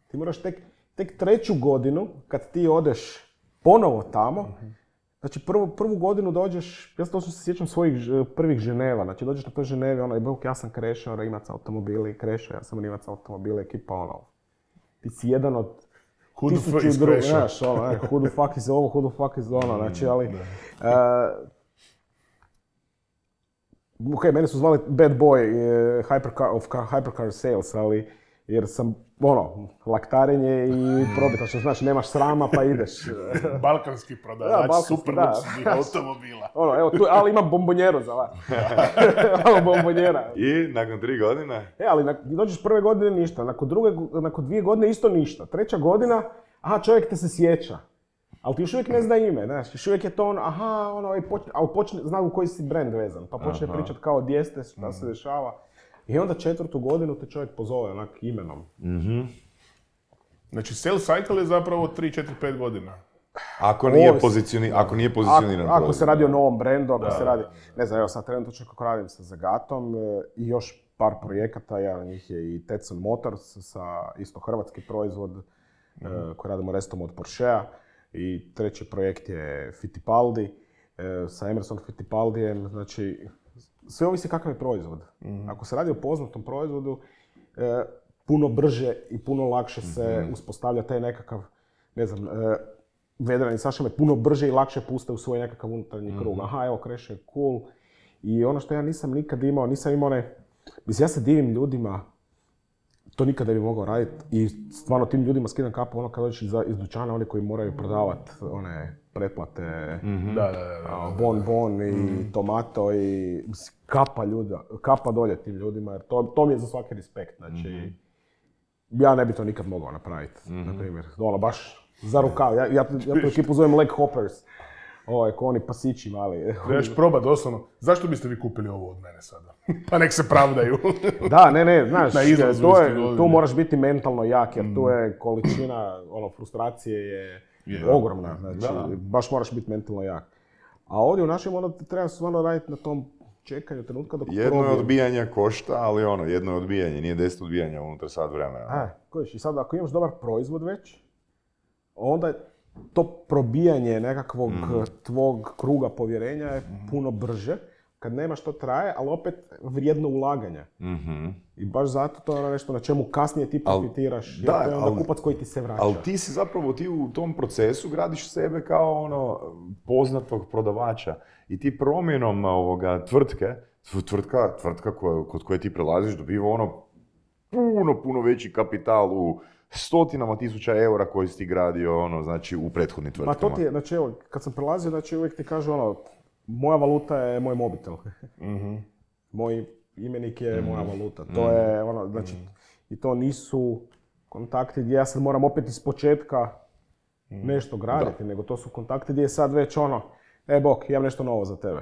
Ti moraš tek, tek treću godinu, kad ti odeš ponovo tamo, uh-huh. znači prvu, prvu godinu dođeš, ja to se sjećam svojih ž, prvih Ženeva, znači dođeš na toj Ženevi, ono, bok, ja sam krešao, Rimac automobili, krešao, ja sam Rimac automobili, ekipa, ono, ti si jedan od tisuću drugih, znaš, ono, eh, who the fuck is ovo, who the fuck is ono, znači, ali, uh, ok, mene su zvali bad boy uh, hypercar, of car, hypercar sales, ali jer sam, ono, laktarenje i probitačno, znači nemaš srama pa ideš. Balkanski prodavač, Da, balkanski, super da. luksuznih automobila. Ono, evo tu, ali imam bombonjeru za vas. Malo bombonjera. I nakon tri godine? E, ali nak- dođeš prve godine ništa, nakon, druge, nakon dvije godine isto ništa. Treća godina, aha, čovjek te se sjeća. Ali ti još uvijek ne zna ime, znaš, još uvijek je to ono, aha, ono, i počne, ali počne, zna u koji si brand vezan, pa počne Aha. pričat kao gdje ste, šta se dešava. I onda četvrtu godinu te čovjek pozove onak imenom. Znači, sales cycle je zapravo tri, četiri, pet godina. Ako nije, Ovisi. pozicioni, ako nije Ako, pozicioniran ako proizvod. se radi o novom brendu, ako Da, se radi, da, ne znam, evo sad trenutno kako radim sa Zagatom e, i još par projekata, jedan od njih je i Tetson Motors sa isto hrvatski proizvod e, koji radimo restom od Porschea i treći projekt je Fittipaldi e, sa Emerson Fittipaldijem, znači sve ovisi kakav je proizvod. Ako se radi o poznatom proizvodu, e, puno brže i puno lakše se uspostavlja taj nekakav, ne znam, e, vedrani Saša me puno brže i lakše puste u svoj nekakav unutarnji krug. Aha, evo, Crash je cool. I ono što ja nisam nikad imao, nisam imao one... Mislim, ja se divim ljudima, to nikad ne bi mogao raditi i stvarno tim ljudima skidam kapu ono kad dođeš iz, iz dućana, oni koji moraju prodavati one pretplate, Da, da, da. da. a, bon bon i tomato i mislim, kapa ljuda, kapa dolje tim ljudima jer to, to mi je za svaki respekt. Znači, ja ne bi to nikad mogao napraviti, na primjer. Ono, baš za rukav. Ja, ja, ja tu ekipu zovem leg hoppers. Ovo je ko oni pasići mali. Trebaš probat doslovno. Zašto biste vi kupili ovo od mene sada? Pa nek se pravdaju. Da, ne, ne, znaš, Na izlazu to isto je, godine. tu moraš biti mentalno jak jer tu je količina ono, frustracije je Je. ogromna. Znači, Da. baš moraš biti mentalno jak. A ovdje u našem onda treba stvarno raditi na tom čekanju trenutka dok Jedno je probijem. odbijanje košta, ali ono, jedno je odbijanje, nije deset odbijanja unutar sat vremena. A, kojiš, i sad ako imaš dobar proizvod već, onda je to probijanje nekakvog tvog kruga povjerenja je puno brže. Kad nemaš to traje, ali opet vrijedno ulaganja. Mhm. I baš zato to je ono nešto na čemu kasnije ti Al- profitiraš. Jer da, to je onda al- kupac koji ti se vraća. Ali ti si zapravo, ti u tom procesu gradiš sebe kao ono poznatog prodavača. I ti promjenom ovoga tvrtke, tv- tvrtka, tvrtka koja, kod koje ti prelaziš dobiva ono puno, puno veći kapital u stotinama tisuća eura koji si ti gradio ono, znači, u prethodnim Ma tvrtkama. to ti je, znači evo, kad sam prelazio, znači uvijek ti kažu ono, moja valuta je moj mobitel. Moj imenik je moja valuta. To je ono, znači, i to nisu kontakti gdje ja sad moram opet iz početka nešto graditi, nego to su kontakti gdje je sad već ono, e bok, imam nešto novo za tebe.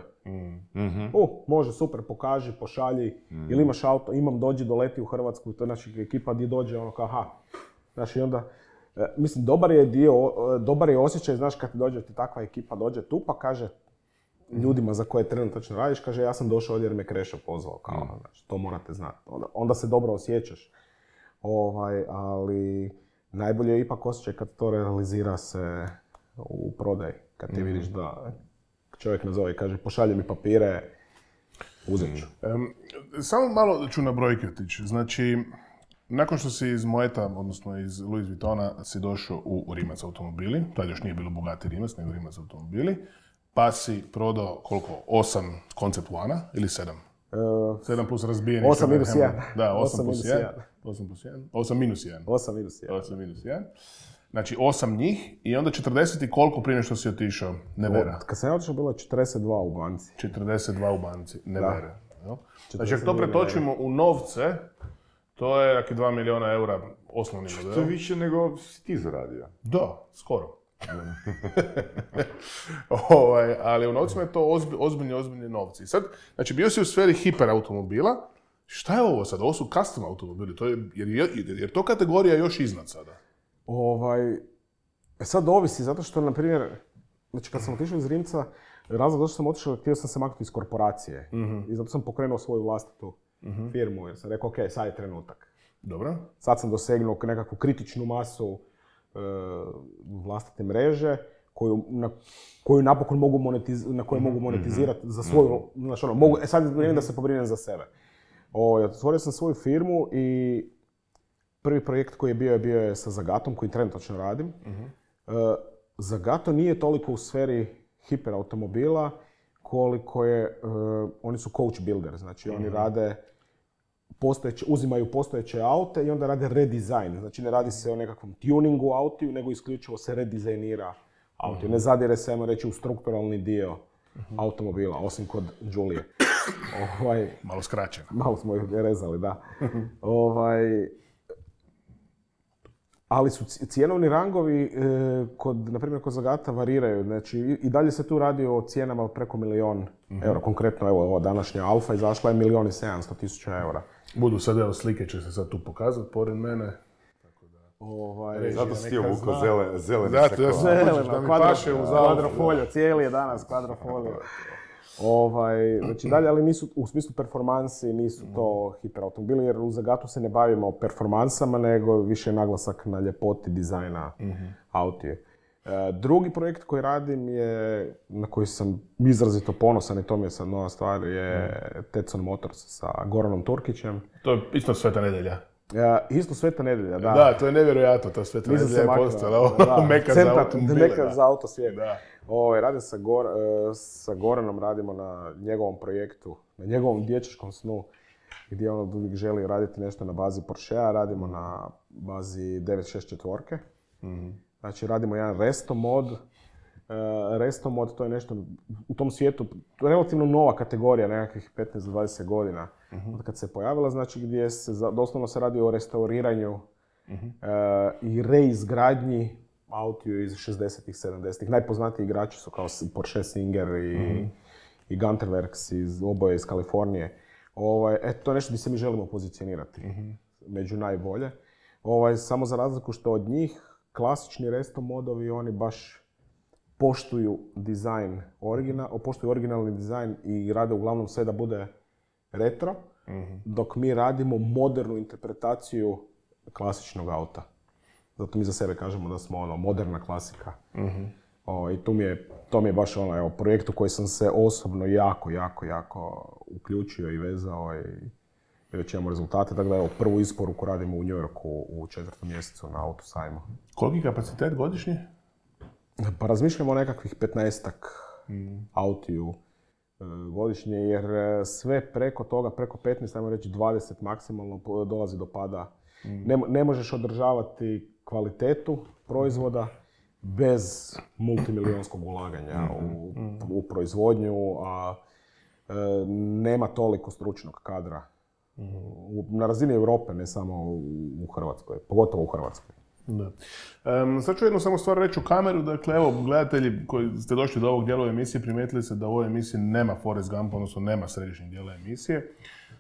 Mhm. U, može, super, pokaži, pošalji, ili imaš auto, imam, dođi, doleti u Hrvatsku, to je naša ekipa gdje dođe, ono kao, aha. Znaš, i onda, e, mislim, dobar je dio, e, dobar je osjećaj, znaš, kad ti dođe ti takva ekipa, dođe tu pa kaže ljudima za koje trenutačno radiš, kaže, ja sam došao ovdje jer me Krešo pozvao, kao, ono, znači, to morate znati. Onda, onda se dobro osjećaš, ovaj, ali najbolje je ipak osjećaj kad to realizira se u prodaji, kad ti vidiš da čovjek nazove i kaže, pošalje mi papire, uzet ću. Em, samo malo ću na brojke otići. Znači, nakon što si iz Moeta, odnosno iz Louis Vuittona, si došao u, u Rimac automobili, tad još nije bilo Bugatti Rimac, nego Rimac automobili, pa si prodao koliko? Osam Concept One ili sedam? E, Sedam plus razbijeni. Osam minus Hammer. jedan. Da, osam Osam plus minus jedan. jedan. Osam plus jedan. Osam minus jedan. osam minus jedan. osam minus jedan. Znači, osam njih i onda četrdeset i koliko prije nego što si otišao? Nevera. Kad sam ja otišao, bilo je četrdeset dva u banci. četrdeset dva u banci, ne Da. vere. jel? Znači, ako to četrdeset dva pretočimo u novce, to je neki dva milijuna eura osnovni model. To je više nego si ti zaradio. Da, skoro. ovaj, ali u novcima je to ozbi, ozbiljni, ozbiljni novci. Sad, znači, bio si u sferi hiperautomobila. Šta je ovo sad? Ovo su custom automobili, to je, jer, je, jer to kategorija još iznad sada. Ovaj, e sad ovisi, zato što, na primjer, znači kad sam otišao iz Rimca, razlog zašto sam otišao, htio sam se maknuti iz korporacije. I zato sam pokrenuo svoju vlastitu firmu, jer sam rekao, ok, sad je trenutak. Dobro? Sad sam dosegnuo nekakvu kritičnu masu e, vlastite mreže, koju, na, koju napokon mogu, monetiz, na koju mogu monetizirati za svoju, znači ono, mogu, e sad je vrijeme da se pobrinem za sebe. O, otvorio sam svoju firmu i prvi projekt koji je bio je bio je sa Zagatom, koji trenutačno radim. Uh, Zagato nije toliko u sferi hiperautomobila koliko je, uh, oni su coach builder, znači oni rade postojeće, uzimaju postojeće aute i onda rade redizajn. Znači ne radi se o nekakvom tuningu autiju, nego isključivo se redizajnira autiju. Ne zadire se, ajmo reći, u strukturalni dio automobila, osim kod Giulie. Ovaj, Malo skraćeno. malo smo ih rezali, da. ovaj, ali su cijenovni rangovi, e, kod, na primjer, kod Zagata variraju. Znači, i, i dalje se tu radi o cijenama od preko milijon mm-hmm. eura. Konkretno, evo, ova današnja Alfa izašla je milijon i sedamsto tisuća eura. Budu sad, evo, slike će se sad tu pokazati pored mene. Ovaj, Zato si ti neka ovuko zna. zelene, zelene Zato ja sakola. sam Zeleno, hoćeš da mi kvadro- paše u zavu. kvadrofolio, cijeli je danas kvadrofolio. Ovaj, znači dalje, ali nisu, u smislu performansi, nisu to hiperautomobili, jer u Zagatu se ne bavimo performansama, nego više je naglasak na ljepoti dizajna mm-hmm. autije. E, drugi projekt koji radim je, na koji sam izrazito ponosan i to mi je sad nova stvar, je mm. Tetson Motors sa Goranom Turkićem. To je isto Sveta nedjelja. E, isto Sveta nedjelja, da. Da, to je nevjerojatno, ta Sveta Nisam nedjelja se je maknuo. postala Da. meka za Centar- automobile. Meka da. za auto svijet. Da. Ovaj, radim sa, Gor, e, sa Goranom, radimo na njegovom projektu, na njegovom dječačkom snu, gdje on uvijek želi raditi nešto na bazi Porschea, radimo na bazi devetsto šezdeset četiri. Mm-hmm. Znači radimo jedan resto mod. E, resto mod, to je nešto u tom svijetu, to je relativno nova kategorija, nekakvih petnaest do dvadeset godina. Mm-hmm. Od kad se pojavila, znači gdje se, za- doslovno se radi o restauriranju mm-hmm. e, i reizgradnji autiju iz šezdesetih, sedamdesetih. Najpoznatiji igrači su kao Porsche Singer i, mm-hmm. i Gunter Works, iz, oboje iz Kalifornije. Ovaj, e, to je nešto gdje se mi želimo pozicionirati mm-hmm. među najbolje. Ovaj, samo za razliku što od njih, klasični resto modovi, oni baš poštuju dizajn, origina, poštuju originalni dizajn i rade uglavnom sve da bude retro, mm-hmm. dok mi radimo modernu interpretaciju klasičnog auta. Zato mi za sebe kažemo da smo ono, moderna klasika. Mm-hmm. O, I tu mi je, to mi je baš ono, evo, projekt u koji sam se osobno jako, jako, jako uključio i vezao i, i već imamo rezultate. Tako da evo, prvu isporuku radimo u New Yorku u četvrtom mjesecu na Autosajmu. Koliki kapacitet godišnji? Pa razmišljamo o nekakvih petnaestak mm. autiju e, godišnje, jer e, sve preko toga, preko petnaest, ajmo reći dvadeset maksimalno, po- dolazi do pada. Mm. Ne, ne možeš održavati kvalitetu proizvoda bez multimilijonskog ulaganja mm. u, mm. u proizvodnju, a e, nema toliko stručnog kadra. Mm. U, na razini Europe, ne samo u, u Hrvatskoj, pogotovo u Hrvatskoj. Da. Um, sad ću jednu samo stvar reći u kameru. Dakle, evo, gledatelji koji ste došli do ovog dijela emisije, primijetili se da u ovoj emisiji nema Forrest Gumpa, odnosno nema središnjeg dijela emisije.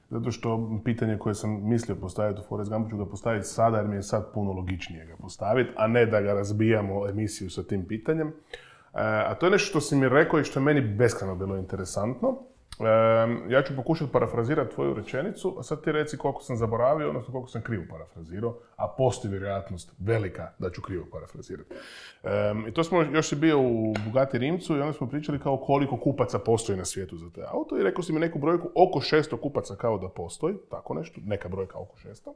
Zato što pitanje koje sam mislio postaviti u Forrest Gumpu ću ga postaviti sada, jer mi je sad puno logičnije ga postaviti, a ne da ga razbijamo emisiju sa tim pitanjem. E, a to je nešto što si mi rekao i što je meni beskrajno bilo interesantno. E, ja ću pokušati parafrazirati tvoju rečenicu, a sad ti reci koliko sam zaboravio, odnosno koliko sam krivo parafrazirao, a postoji vjerojatnost velika da ću krivo parafrazirati. E, I to smo, još si bio u Bugatti Rimcu i onda smo pričali kao koliko kupaca postoji na svijetu za te auto i rekao si mi neku brojku, oko šesto kupaca kao da postoji, tako nešto, neka brojka oko šesto,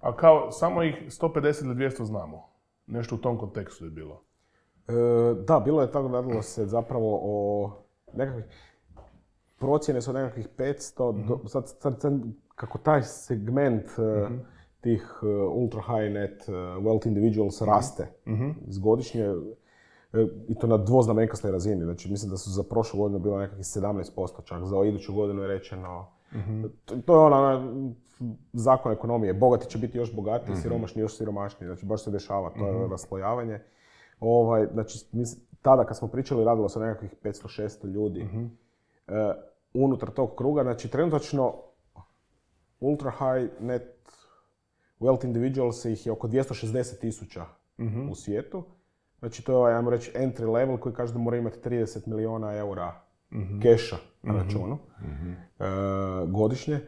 a kao samo ih sto pedeset ili dvjesto znamo. Nešto u tom kontekstu je bilo. E, da, bilo je tako, radilo se zapravo o nekakvih, procjene su nekakvih petsto, mm-hmm. do, sad, sad, sad kako taj segment mm-hmm. uh, tih uh, ultra high net uh, wealth individuals mm-hmm. raste mm-hmm. godišnje, uh, i to na dvoznamenkastoj razini. Znači, mislim da su za prošlu godinu bilo nekakvih sedamnaest posto čak, za iduću godinu je rečeno. Mm-hmm. To, to je ona zakon ekonomije, bogati će biti još bogatiji, mm-hmm. siromašni još siromašniji, znači baš se dešava, to mm-hmm. je raslojavanje. Ovaj, znači, mislim, tada kad smo pričali, radilo se o nekakvih petsto šesto ljudi. Mm-hmm. Uh, unutar tog kruga, znači trenutačno ultra high net wealth individuals ih je oko dvjesto šezdeset tisuća mm-hmm. u svijetu. Znači to je ovaj, ajmo reći, entry level koji každa mora imati trideset milijuna eura mm-hmm. keša na mm-hmm. računu mm-hmm. Uh, godišnje.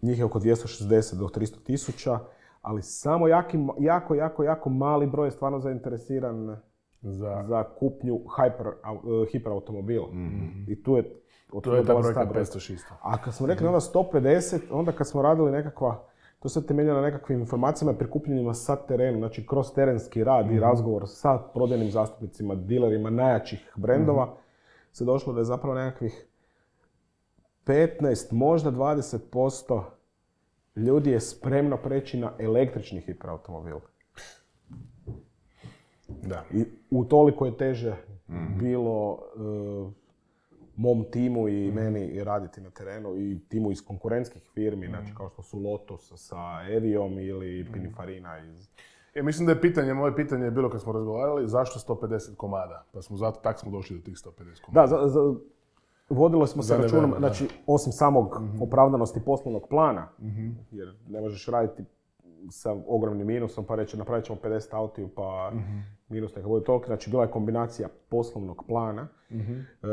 Njih je oko dvjesto šezdeset do tristo tisuća, ali samo jaki, jako, jako, jako mali broj je stvarno zainteresiran za, za kupnju hyper, uh, hiperautomobila. Mm-hmm. I tu je to je ta brojka petsto šezdeset. A kad smo rekli mm-hmm. onda sto pedeset, onda kad smo radili nekakva, to se temelja na nekakvim informacijama prikupljenima sa terenu, znači kroz terenski rad mm-hmm. i razgovor sa prodajnim zastupnicima, dilerima najjačih brendova, mm-hmm. se došlo da je zapravo nekakvih petnaest, možda dvadeset posto ljudi je spremno preći na električni hiperautomobil. Da. I utoliko je teže mm-hmm. bilo uh, mom timu i meni raditi na terenu i timu iz konkurentskih firmi, mm-hmm. znači kao što su Lotus sa Evijom ili Pininfarina iz... Ja, mislim da je pitanje, moje pitanje je bilo kad smo razgovarali, zašto sto pedeset komada? Pa smo zato, tak smo došli do tih sto pedeset komada. Da, za, za, vodilo smo se računom, znači osim samog mm-hmm. opravdanosti poslovnog plana, mm-hmm. jer ne možeš raditi sa ogromnim minusom pa reći napravit ćemo pedeset autiju pa mm-hmm. minus neka bude toliko. Znači bila je kombinacija poslovnog plana, mm-hmm. e,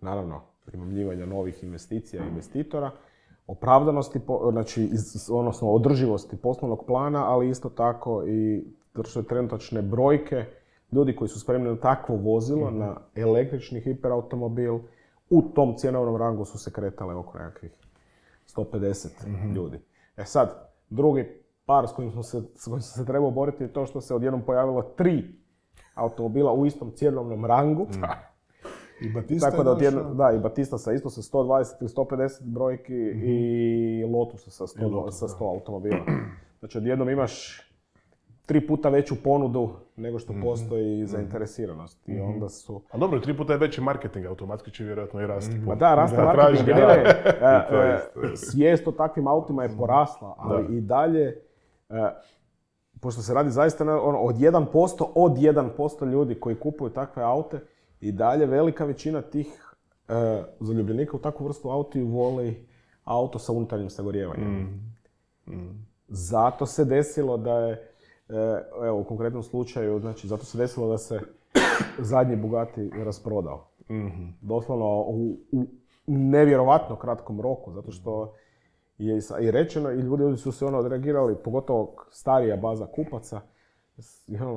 naravno primamljivanja novih investicija i investitora, opravdanosti, znači odnosno održivosti poslovnog plana, ali isto tako i trenutačne brojke ljudi koji su spremni na takvo vozilo, mm-hmm. na električni hiperautomobil, u tom cjenovnom rangu su se kretale oko nekakvih sto pedeset mm-hmm. ljudi. E sad, drugi par s kojim, smo se, s kojim sam se trebao boriti je to što se odjednom pojavilo tri automobila u istom cjenovnom rangu. Mm. I Batista tako da, odjedno, da, i Batista sa isto sa sto dvadeset ili sto pedeset brojki mm-hmm. i Lotus sa sto, Lotus, sa sto automobila. Znači odjednom imaš tri puta veću ponudu nego što mm-hmm. postoji zainteresiranost. I onda su... A dobro, tri puta je veći marketing, automatski će vjerojatno i rasti. Ma da, raste marketing. Da, da. Svijest o takvim autima je porasla, ali da. I dalje, pošto se radi zaista ono, od jedan posto, od jedan posto ljudi koji kupuju takve aute, i dalje velika većina tih e, zaljubljenika u takvu vrstu autiju voli auto sa unutarnjim sagorijevanjem. Mm. Mm. Zato se desilo da je, e, evo u konkretnom slučaju, znači zato se desilo da se zadnji Bugatti rasprodao. Mm-hmm. Doslovno u, u nevjerovatno kratkom roku, zato što je i rečeno i ljudi su se ono odreagirali, pogotovo starija baza kupaca,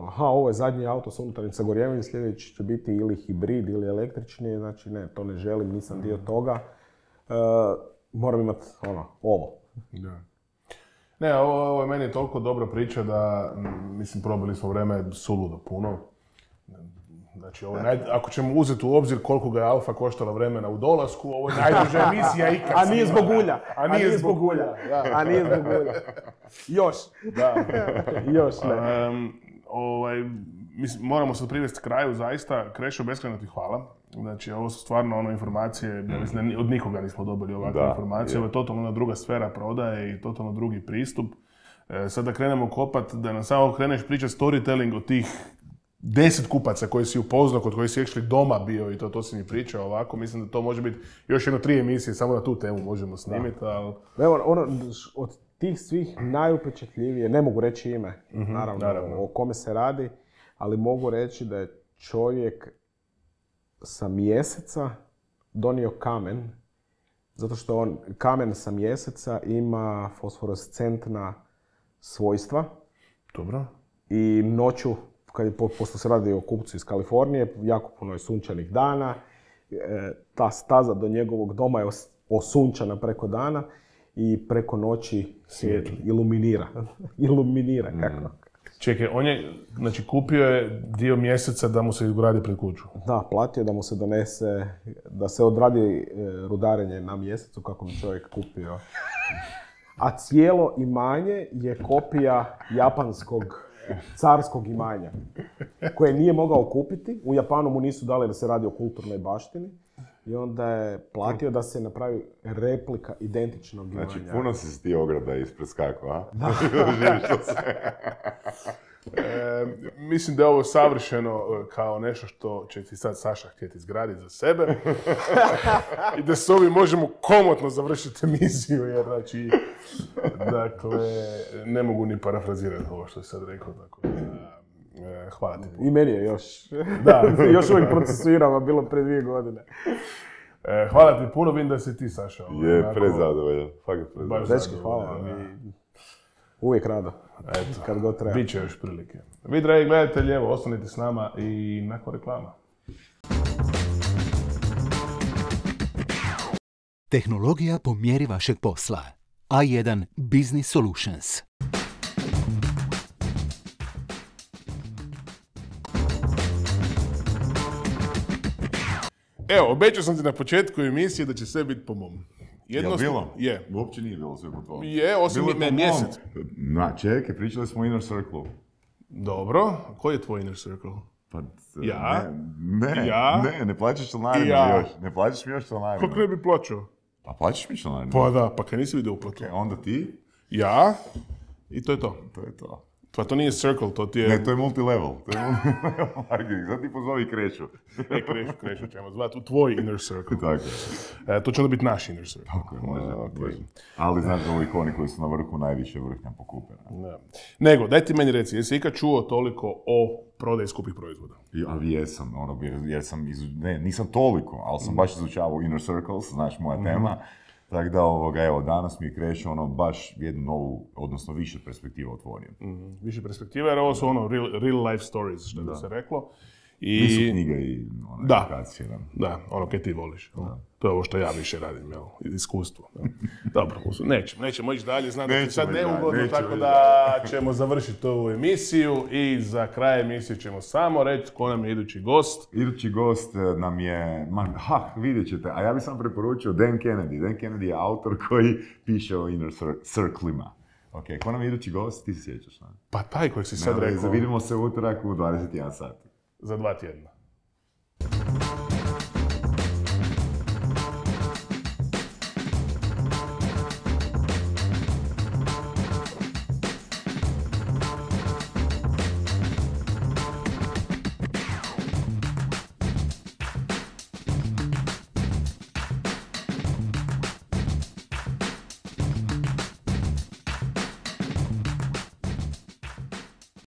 aha, ovo je zadnji auto sa unutarnjim sagorijevanjem, sljedeći će biti ili hibrid ili električni, znači ne, to ne želim, nisam dio toga. E, moram imati ono, ovo. Da. Ne, ovo, ovo je meni toliko dobra priča da, mislim, probali smo vreme suludo puno. Znači, ovo naj, ako ćemo uzeti u obzir koliko ga je Alfa koštala vremena u dolasku, ovo je najduža emisija ikad. A nije zbog ulja. A nije, A nije zbog ulja. Da. A nije zbog ulja. Još. Da. Još ne. Um, ovaj, mislim, moramo se privesti kraju, zaista. Krešo, beskrajno ti hvala. Znači, ovo su stvarno ono informacije, mm. mislim, od nikoga nismo dobili ovakve da, informacije. Je. Ovo je totalno jedna druga sfera prodaje i totalno drugi pristup. E, sad da krenemo kopat, da nam samo kreneš pričati storytelling od tih deset kupaca koji si upoznao, kod koji si actually doma bio i to, to si mi pričao ovako, mislim da to može biti još jedno tri emisije, samo na tu temu možemo snimiti, ali... Evo, ono, od tih svih najupečatljivije, ne mogu reći ime, mm-hmm, naravno, naravno, o kome se radi, ali mogu reći da je čovjek sa Mjeseca donio kamen, zato što on, kamen sa Mjeseca ima fosforescentna svojstva. Dobro. I noću, kad je, pošto se radi o kupcu iz Kalifornije, jako puno je sunčanih dana, e, ta staza do njegovog doma je os, osunčana preko dana i preko noći svijet iluminira. iluminira, kako? Mm. Čekaj, on je, znači, kupio je dio Mjeseca da mu se izgradi pred kuću. Da, platio da mu se donese, da se odradi e, rudarenje na Mjesecu kako bi čovjek kupio. A cijelo imanje je kopija japanskog carskog imanja, koje nije mogao kupiti. U Japanu mu nisu dali da se radi o kulturnoj baštini i onda je platio da se napravi replika identičnog imanja. Znači, puno si ti ograda ispred skako, a? Da. E, mislim da je ovo savršeno kao nešto što će ti sad Saša htjeti izgraditi za sebe i da s ovim možemo komotno završiti emisiju, jer znači, dakle, ne mogu ni parafrazirati ovo što je sad rekao, tako da, e, hvala ti. I meni je još, da, još uvijek procesuiramo, bilo pre dvije godine. E, hvala ti puno, vidim da si ti, Saša. Ovo, je, onako, prezadovoljan, fakat prezadovoljan. Dečki, hvala vam i uvijek rado. Eto, kad god treba. Biće još prilike. Vi, dragi gledatelji, evo, ostanite s nama i nakon reklama. Tehnologija po mjeri vašeg posla. A jedan Business Solutions. Evo, obećao sam ti na početku emisije da će sve biti po mom. Jednost... Je bilo? Je. Uopće nije bilo sve po tvojom. Je, osim Bilo je me, po mjesec. mom. Na, čekaj, pričali smo o Inner Circle. Dobro, koji je tvoj inner circle? Pa, Ja? Ne, ne, Ja? ne, ne plaćaš članarinu Ja. još. Ne plaćaš mi još članarinu. Kako ne bi plaćao? Pa plaćaš mi članarinu. Pa da, pa kaj nisi vidio uplatu? E, onda ti, Ja, i to je to. to je to. Pa to nije circle, to ti je... Ne, to je multilevel. To je multilevel marketing. Sad ti pozovi kreću. E, krešu, krešu ćemo zvati u tvoj inner circle. Tako je. E, to će onda biti naš inner circle. Tako je, može. A, ok. može. Ali znaš da ovi koni koji su na vrhu najviše vrhnja pokupe. Ne. Nego, daj ti meni reci, jesi ikad čuo toliko o prodaji skupih proizvoda? I, ali jesam, ono, jer, jer sam, izu, ne, nisam toliko, ali sam baš izučavao Inner Circles, znaš, moja tema. Tako da, ovoga, evo, danas mi je Krešo, ono, baš jednu novu, odnosno više perspektiva otvorio. Mm, više perspektive, jer ovo su ono real, real life stories, što bi se reklo. I... Nisu knjige i ono, Da. edukacije, da. Da, ono kaj ti voliš. Da. To je ovo što ja više radim, jel? Iskustvo. Jel? Dobro, nećemo, nećemo ići dalje, znam da ti Nećemo sad ići dalje, neugodno, nećemo tako ići da ćemo završiti ovu emisiju i za kraj emisije ćemo samo reći ko nam je idući gost. Idući gost eh, nam je, man, ha, vidjet ćete, a ja bih sam preporučio Dan Kennedy. Dan Kennedy je autor koji piše o Inner cir- Circlima. Ok, ko nam je idući gost, ti se sjećaš, ne? Pa taj kojeg si sad Ne, rekao, Vidimo se utorak u dvadeset jedan sat. za dva tjedna.